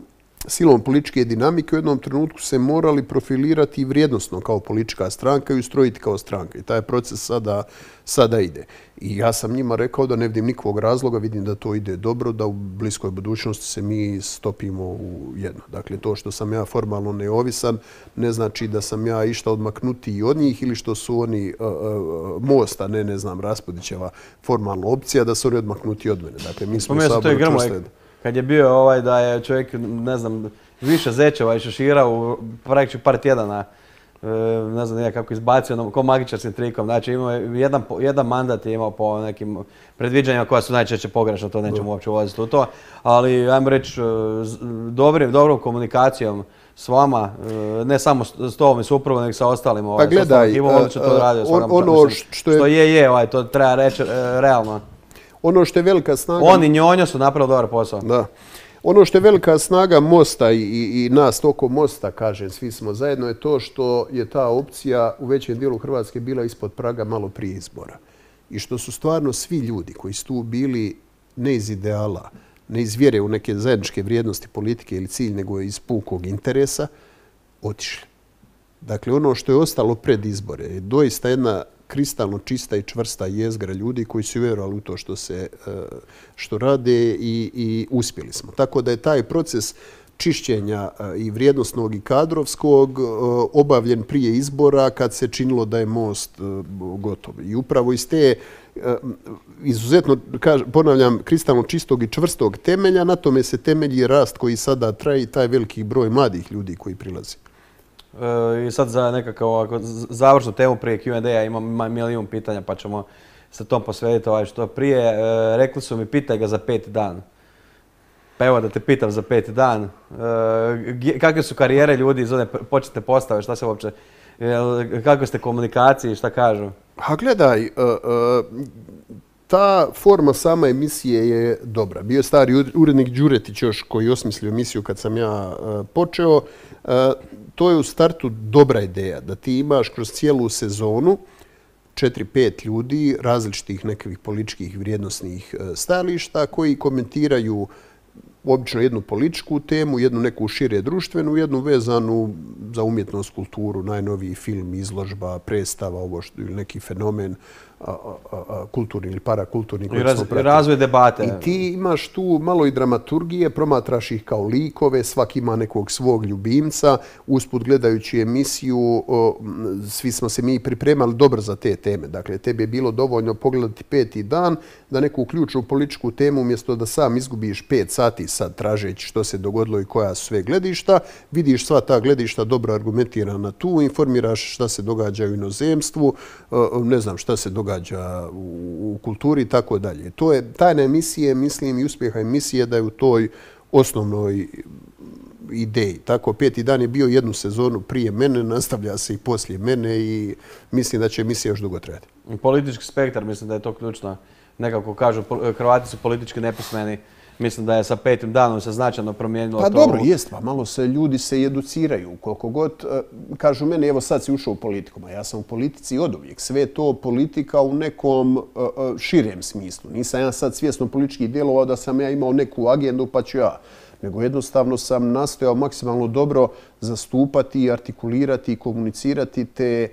silom političke dinamike u jednom trenutku se morali profilirati vrijednosno kao politička stranka i ustrojiti kao stranka. I taj proces sada, sada ide. I ja sam njima rekao da ne vidim nikakvog razloga, vidim da to ide dobro, da u bliskoj budućnosti se mi stopimo u jedno. Dakle, to što sam ja formalno neovisan ne znači da sam ja išta odmaknuti od njih ili što su oni uh, uh, Most, a ne, ne znam, Raspudićeva formalna opcija, da su oni odmaknuti od mene. Dakle, mi smo u Saboru čvrste. Kad je bio ovaj da je čovjek, ne znam, više zečeva i šešira u praktički par tjedana, ne znam kako izbacio, ko magičarskim trikom. Znači imao je jedan, jedan mandat je imao po nekim predviđanjima koja su najčešće pogrešna, to nećemo uopće ulaziti u to. Ali, ajmo reći, dobrim, dobrom komunikacijom s vama, ne samo s tobom i supruvom, nego sa ostalim. Ovaj, pa gledaj, uh, to radio, on, ono mislim, što je... Što je, je, ovaj, to treba reći uh, realno. Ono što je velika snaga... Oni Njonjo su napravili dobar posao. Da. Ono što je velika snaga Mosta i, i, i nas oko Mosta, kažem, svi smo zajedno, je to što je ta opcija u većem dijelu Hrvatske bila ispod praga malo prije izbora. I što su stvarno svi ljudi koji su tu bili ne iz ideala, ne iz vjere u neke zajedničke vrijednosti politike ili cilj, nego iz pukog interesa, otišli. Dakle, ono što je ostalo pred izbore je doista jedna kristalno čista i čvrsta jezgra ljudi koji su vjerovali u to što se što rade i, i uspjeli smo. Tako da je taj proces čišćenja i vrijednosnog i kadrovskog obavljen prije izbora kad se činilo da je Most gotov. I upravo iz te izuzetno, ponavljam, kristalno čistog i čvrstog temelja, na tome se temelji rast koji sada traje i taj veliki broj mladih ljudi koji prilazi. I sad za nekakav završnu temu prije Q and A imam milijun pitanja pa ćemo se tom posvetiti ovaj što prije. Rekli su mi pitaj ga za peti dan. Pa evo da te pitam za peti dan. Kakve su karijere ljudi iz one početne postave? Šta se uopće, kakve ste komunikaciji, šta kažu? A gledaj, ta forma sama emisije je dobra. Bio je stari urednik Đuretić još koji je osmislio emisiju kad sam ja počeo. To je u startu dobra ideja, da ti imaš kroz cijelu sezonu četiri pet ljudi različitih nekakvih političkih vrijednosnih stajališta koji komentiraju obično jednu političku temu, jednu neku šire društvenu, jednu vezanu za umjetnost, kulturu, najnoviji film, izložba, predstava, ovo što, ili neki fenomen a, a, a, kulturni ili parakulturni. I raz, razvoj debate. I ti imaš tu malo i dramaturgije, promatraš ih kao likove, svaki ima nekog svog ljubimca. Usput gledajući emisiju, o, svi smo se mi pripremali dobro za te teme. Dakle, tebi je bilo dovoljno pogledati peti dan da neku ključnu političku temu, umjesto da sam izgubiš pet sati sad tražeći što se dogodilo i koja su sve gledišta, vidiš sva ta gledišta dobro argumentirana tu, informiraš šta se događa u inozemstvu, ne znam šta se događa u, u kulturi i tako dalje. To je tajna emisije, mislim, i uspjeha emisije da je u toj osnovnoj ideji. Tako, peti dan je bio jednu sezonu prije mene, nastavlja se i poslije mene i mislim da će emisija još dugo trajati. Politički spektar, mislim da je to ključno. Nekako kažu, Hrvati su politički nepismeni. Mislim da je sa petim danom se značajno promijenilo pa to. Pa dobro, jest, pa malo se ljudi se educiraju. Koliko god kažu meni, evo sad si ušao u politiku, a ja sam u politici od uvijek. Sve je to politika u nekom uh, širem smislu. Nisam ja sad svjesno politički djelovao da sam ja imao neku agendu pa ću ja. Nego jednostavno sam nastojao maksimalno dobro zastupati, artikulirati i komunicirati te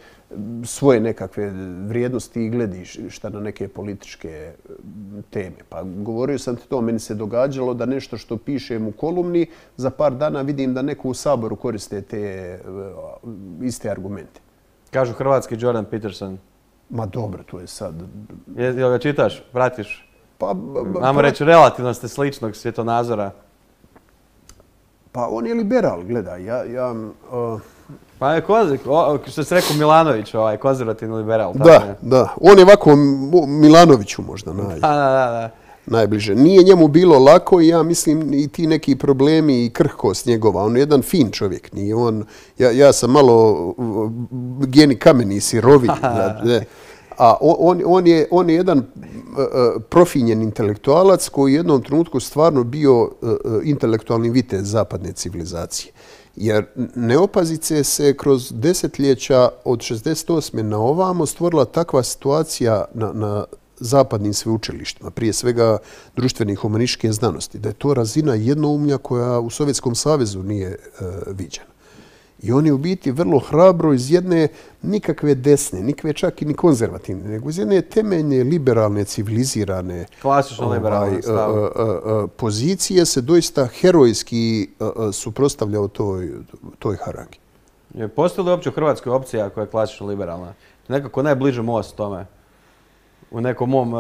svoje nekakve vrijednosti i gledišta na neke političke teme. Pa govorio sam ti to, meni se događalo da nešto što pišem u kolumni, za par dana vidim da neko u Saboru koriste te iste argumente. Kažu hrvatski Jordan Peterson. Ma dobro, to je sad... Jel ga čitaš, pratiš? Pa... Ajmo reći, relativno ste sličnog svjetonazora. Pa on je liberal, gledaj, ja... ja uh... Pa je kozik, što se rekao Milanović, ovaj, konzervativni liberal. Da, tako da. On je ovako Milanoviću možda naj, da, da, da. najbliže. Nije njemu bilo lako i ja mislim i ti neki problemi i krhkost njegova. On je jedan fin čovjek. Nije on, ja, ja sam malo geni kameni, sirovi. A on, on, je, on je jedan uh, profinjen intelektualac koji je u jednom trenutku stvarno bio uh, intelektualni vitez zapadne civilizacije. Jer neopazice se kroz desetljeća od šezdeset osme na ovamo stvorila takva situacija na, na zapadnim sveučilištima, prije svega društvenih humanističke znanosti, da je to razina jednoumlja koja u Sovjetskom savezu nije uh, viđena. I on je u biti vrlo hrabro iz jedne nikakve desne, nikakve čak i ni konzervativne, nego iz jedne temeljne, liberalne, civilizirane klasično liberalne ovaj, pozicije se doista herojski suprotstavljao toj, toj harangi. Postoji li uopće u Hrvatskoj opcija koja je klasično liberalna? Nekako najbliže Most tome. U nekom mom uh,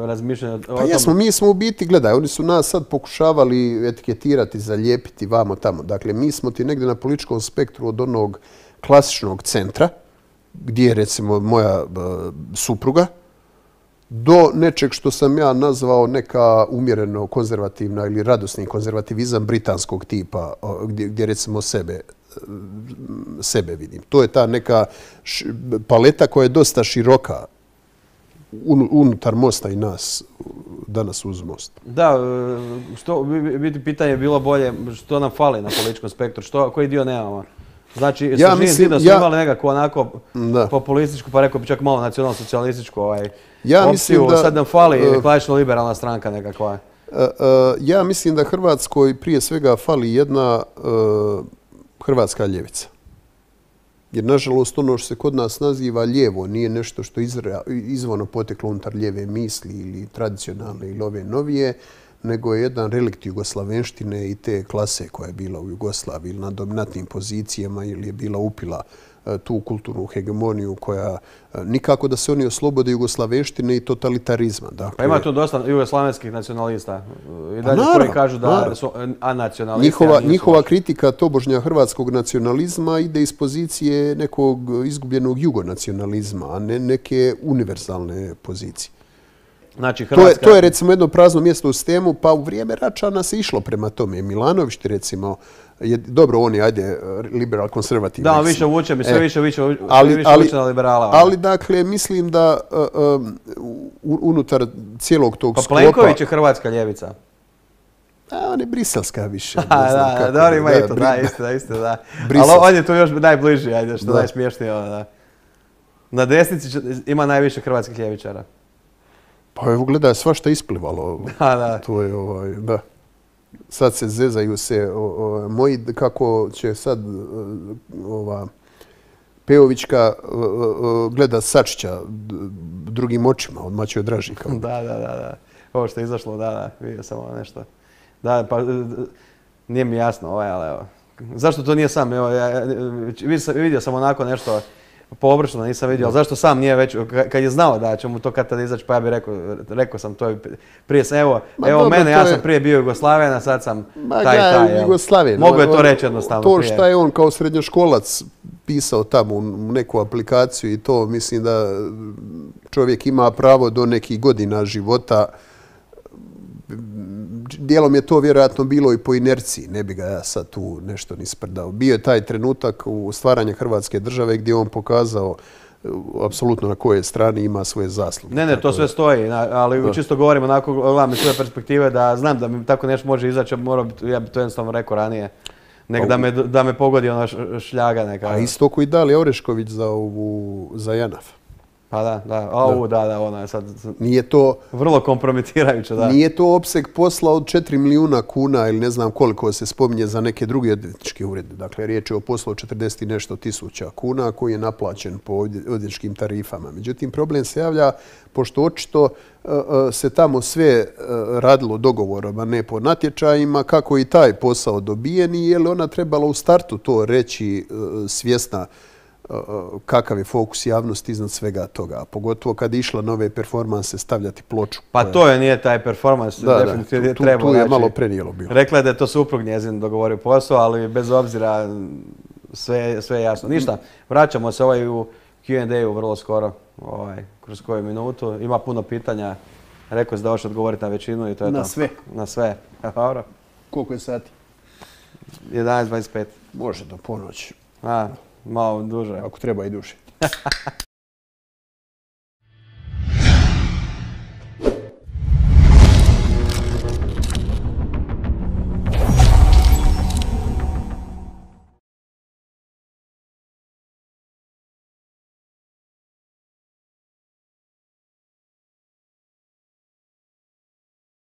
razmišljanju. Pa jesmo, mi smo u biti, gledaj, oni su nas sad pokušavali etiketirati, zalijepiti vamo tamo. Dakle, mi smo ti negdje na političkom spektru od onog klasičnog centra, gdje je recimo moja uh, supruga, do nečeg što sam ja nazvao neka umjereno konzervativna ili radosni konzervativizam britanskog tipa, uh, gdje, gdje recimo sebe sebe vidim. To je ta neka š, paleta koja je dosta široka unutar Mosta i nas, danas uz Most. Da, što biti pitanje je bilo bolje, što nam fali na političkom spektru, što, koji dio nemamo? Znači, ja sa Živim zidom smo ja, imali nekako onako da. populističku, pa rekao bi čak malo nacionalno-socijalističku ovaj, ja opciju, da, sad nam fali uh, klasično liberalna stranka nekakva. Uh, uh, ja mislim da Hrvatskoj prije svega fali jedna uh, hrvatska ljevica. Jer, nažalost, ono što se kod nas naziva lijevo nije nešto što je izvorno poteklo unutar lijeve misli ili tradicionalne ili ove novije, nego je jedan relikt jugoslavenštine i te klase koja je bila u Jugoslaviji ili na dominantnim pozicijama ili je bila upila tu kulturnu hegemoniju koja nikako da se oni oslobode jugoslavenštine i totalitarizma. Dakle, pa ima tu dosta jugoslavenskih nacionalista i dalje pa koji kažu da naravno. su anacionalisti. Njihova, njihova kritika tobožnja hrvatskog nacionalizma ide iz pozicije nekog izgubljenog jugonacionalizma, a ne neke univerzalne pozicije. Znači, Hrvatska... to, je, to je recimo jedno prazno mjesto u sistemu, pa u vrijeme Račana se išlo prema tome. Milanović ti recimo, je, dobro, on je, ajde, liberal konzervativni. Da, on više vuče, mi sve e, više, više, ali, više ali, vuče na liberala. Ali, dakle, mislim da uh, unutar cijelog tog pa sklopa... Pa Plenković je hrvatska ljevica. A, on je briselska više. Ne znam da, kako, dobro, ima da, i to, da, isto, da, isto, da. Ali on je tu još najbliži, ajde, što najsmiješnije. Da. Na desnici ima najviše hrvatskih ljevičara. Pa evo, gledaj, svašta isplivalo. Da, da. To je, ovaj, da. Sad se zezaju se o, o, moji, kako će sad ova Pejovićka gleda Sačića drugim očima, odmah će odraži. Kao. Da, da, da, da. Ovo što je izašlo, da, da, vidio sam ovo nešto. Da, pa nije mi jasno, ovaj, ali evo. Zašto to nije sam? Evo, ja, vidio sam onako nešto poobršno, nisam vidio, ali zašto sam nije već, kad je znao da će mu to kad tada izaći, pa ja bih rekao, rekao sam to prije sam, evo, Ma evo dobro, mene, ja je... sam prije bio Jugoslaven, a sad sam Ma, taj, taj, Jugoslaven. Mogu je to reći jednostavno to prije. To što je on kao srednjoškolac pisao tamo u neku aplikaciju i to, mislim da čovjek ima pravo do nekih godina života. Dijelom je to vjerojatno bilo i po inerciji, ne bi ga ja sad tu nešto ni sprdao. Bio je taj trenutak u stvaranju Hrvatske države gdje on pokazao apsolutno na koje strani ima svoje zasluge. Ne, ne, to sve stoji, ali da. čisto govorim onako, gledam iz svoje perspektive da znam da mi tako nešto može izaći, mora, ja bi to jednostavno rekao ranije, nek da me, da me pogodi ona šljaga neka. A isto koji dali Orešković za, ovu, za Janaf. Pa da, da, ovu, da, da, ona je sad nije to, vrlo kompromitirajuće, da. Nije to opseg posla od četiri milijuna kuna ili ne znam koliko se spominje za neke druge odvjetničke urede. Dakle, riječ je o poslu od četrdeset i nešto tisuća kuna koji je naplaćen po odvjetničkim tarifama. Međutim, problem se javlja pošto očito uh, se tamo sve uh, radilo dogovorom, a ne po natječajima, kako i taj posao dobijen i je li ona trebala u startu to reći uh, svjesna kakav je fokus javnosti iznad svega toga. Pogotovo kad je išla nove performanse stavljati ploču. Pa koja... to je nije taj performans. Da, definitivno da, tu, trebao. tu je znači, malo prenijelo bilo. Rekla je da je to suprug njezin dogovorio posao, ali bez obzira sve, sve je jasno. Ništa, vraćamo se ovaj u Q and A-u vrlo skoro, ovaj, kroz koju minutu. Ima puno pitanja. Rekao si da hoće odgovoriti na većinu i to je na to. Na sve. Na sve. Dobro. Koliko je sati? jedanaest dvadeset pet. Može do ponoći. A, malo duže. Ako treba i duže.